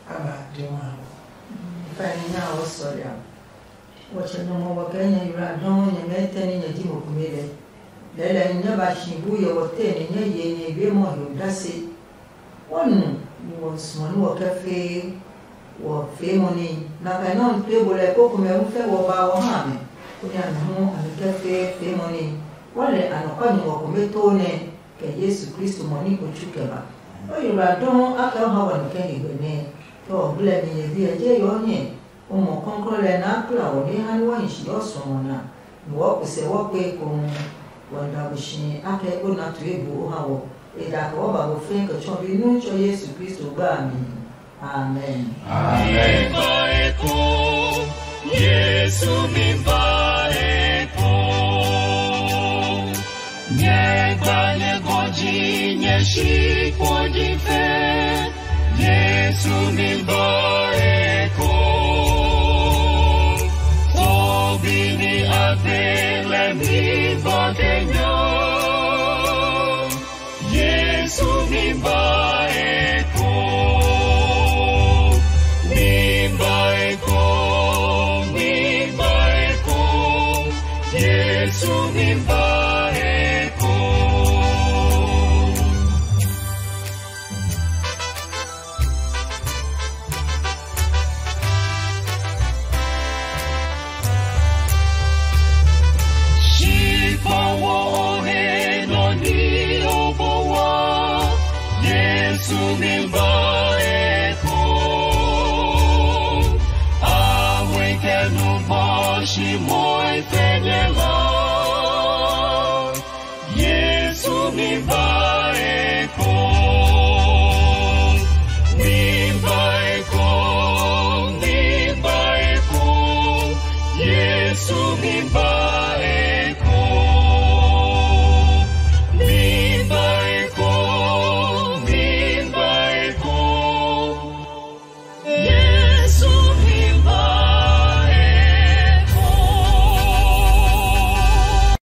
A ba de wa. Fa ni nya o sɔri a. Wɔtsɛ nɔmɔ wɔ kɛ nyɛ yura dɔɔ nyɛ mɛ tɛ ni nyɛ ji mo kumi lɛ. Lɛlɛ nyɛ ba shi bu yɛ wɔ tɛ ni nyɛ ye nyɛ yue mɔ yo dase. Wɔ nu ni wɔ suɔ ni wɔ kɛ fee wɔ fee mɔ ni. Na kɛ nyɔnu pe bo lɛ koko mɛ hu fɛ wɔ ba wɔ ha mɛ. Ko ni a mi hu a mi kɛ fee fee mɔ ni. Wɔ lɛ anɔkwa nyumu ɔ kome too nɛ kɛ Yesu Kristo mɔ ni ko tsu kɛ ba. O yi wla dɔɔ a kɛ ha wɔ ni kɛ ni gbɛ nɛ. Kɛ wɔ gblɛ mi nyɛ bi ɛ je yɔ nyɛ. O mɔ kɔnkɔn lɛ naa kpla wɔ nɛ ha ni wɔ hi si ɔ suɔmɔ na. Ni wɔ kusɛ wɔ kpe ekohu. Wɔ da bu si akɛ o na tu ebo o ha wɔ. E da kɛ wɔ ba bo fɛɛ kɛ tsɔ bi nu tsɔ Yesu Kristo gba a mi. Amen. Amen. Ba eko, Yesu mi ba eko. Nyɛ gba nyɛ gɔji nyɛ shi kpɔji fɛ. Yesu mi ba eko. Obi ni agbe lɛ mi ba kɛ nya. Yesu mi ba eko, mi ba eko, mi ba eko, Yesu mi ba eko. Shi kpa wo o he nɔ ni o po wa, Yesu mi ba eko. A we kɛ nu bɔ shi moi fɛ nyɛ la. Yesu mi ba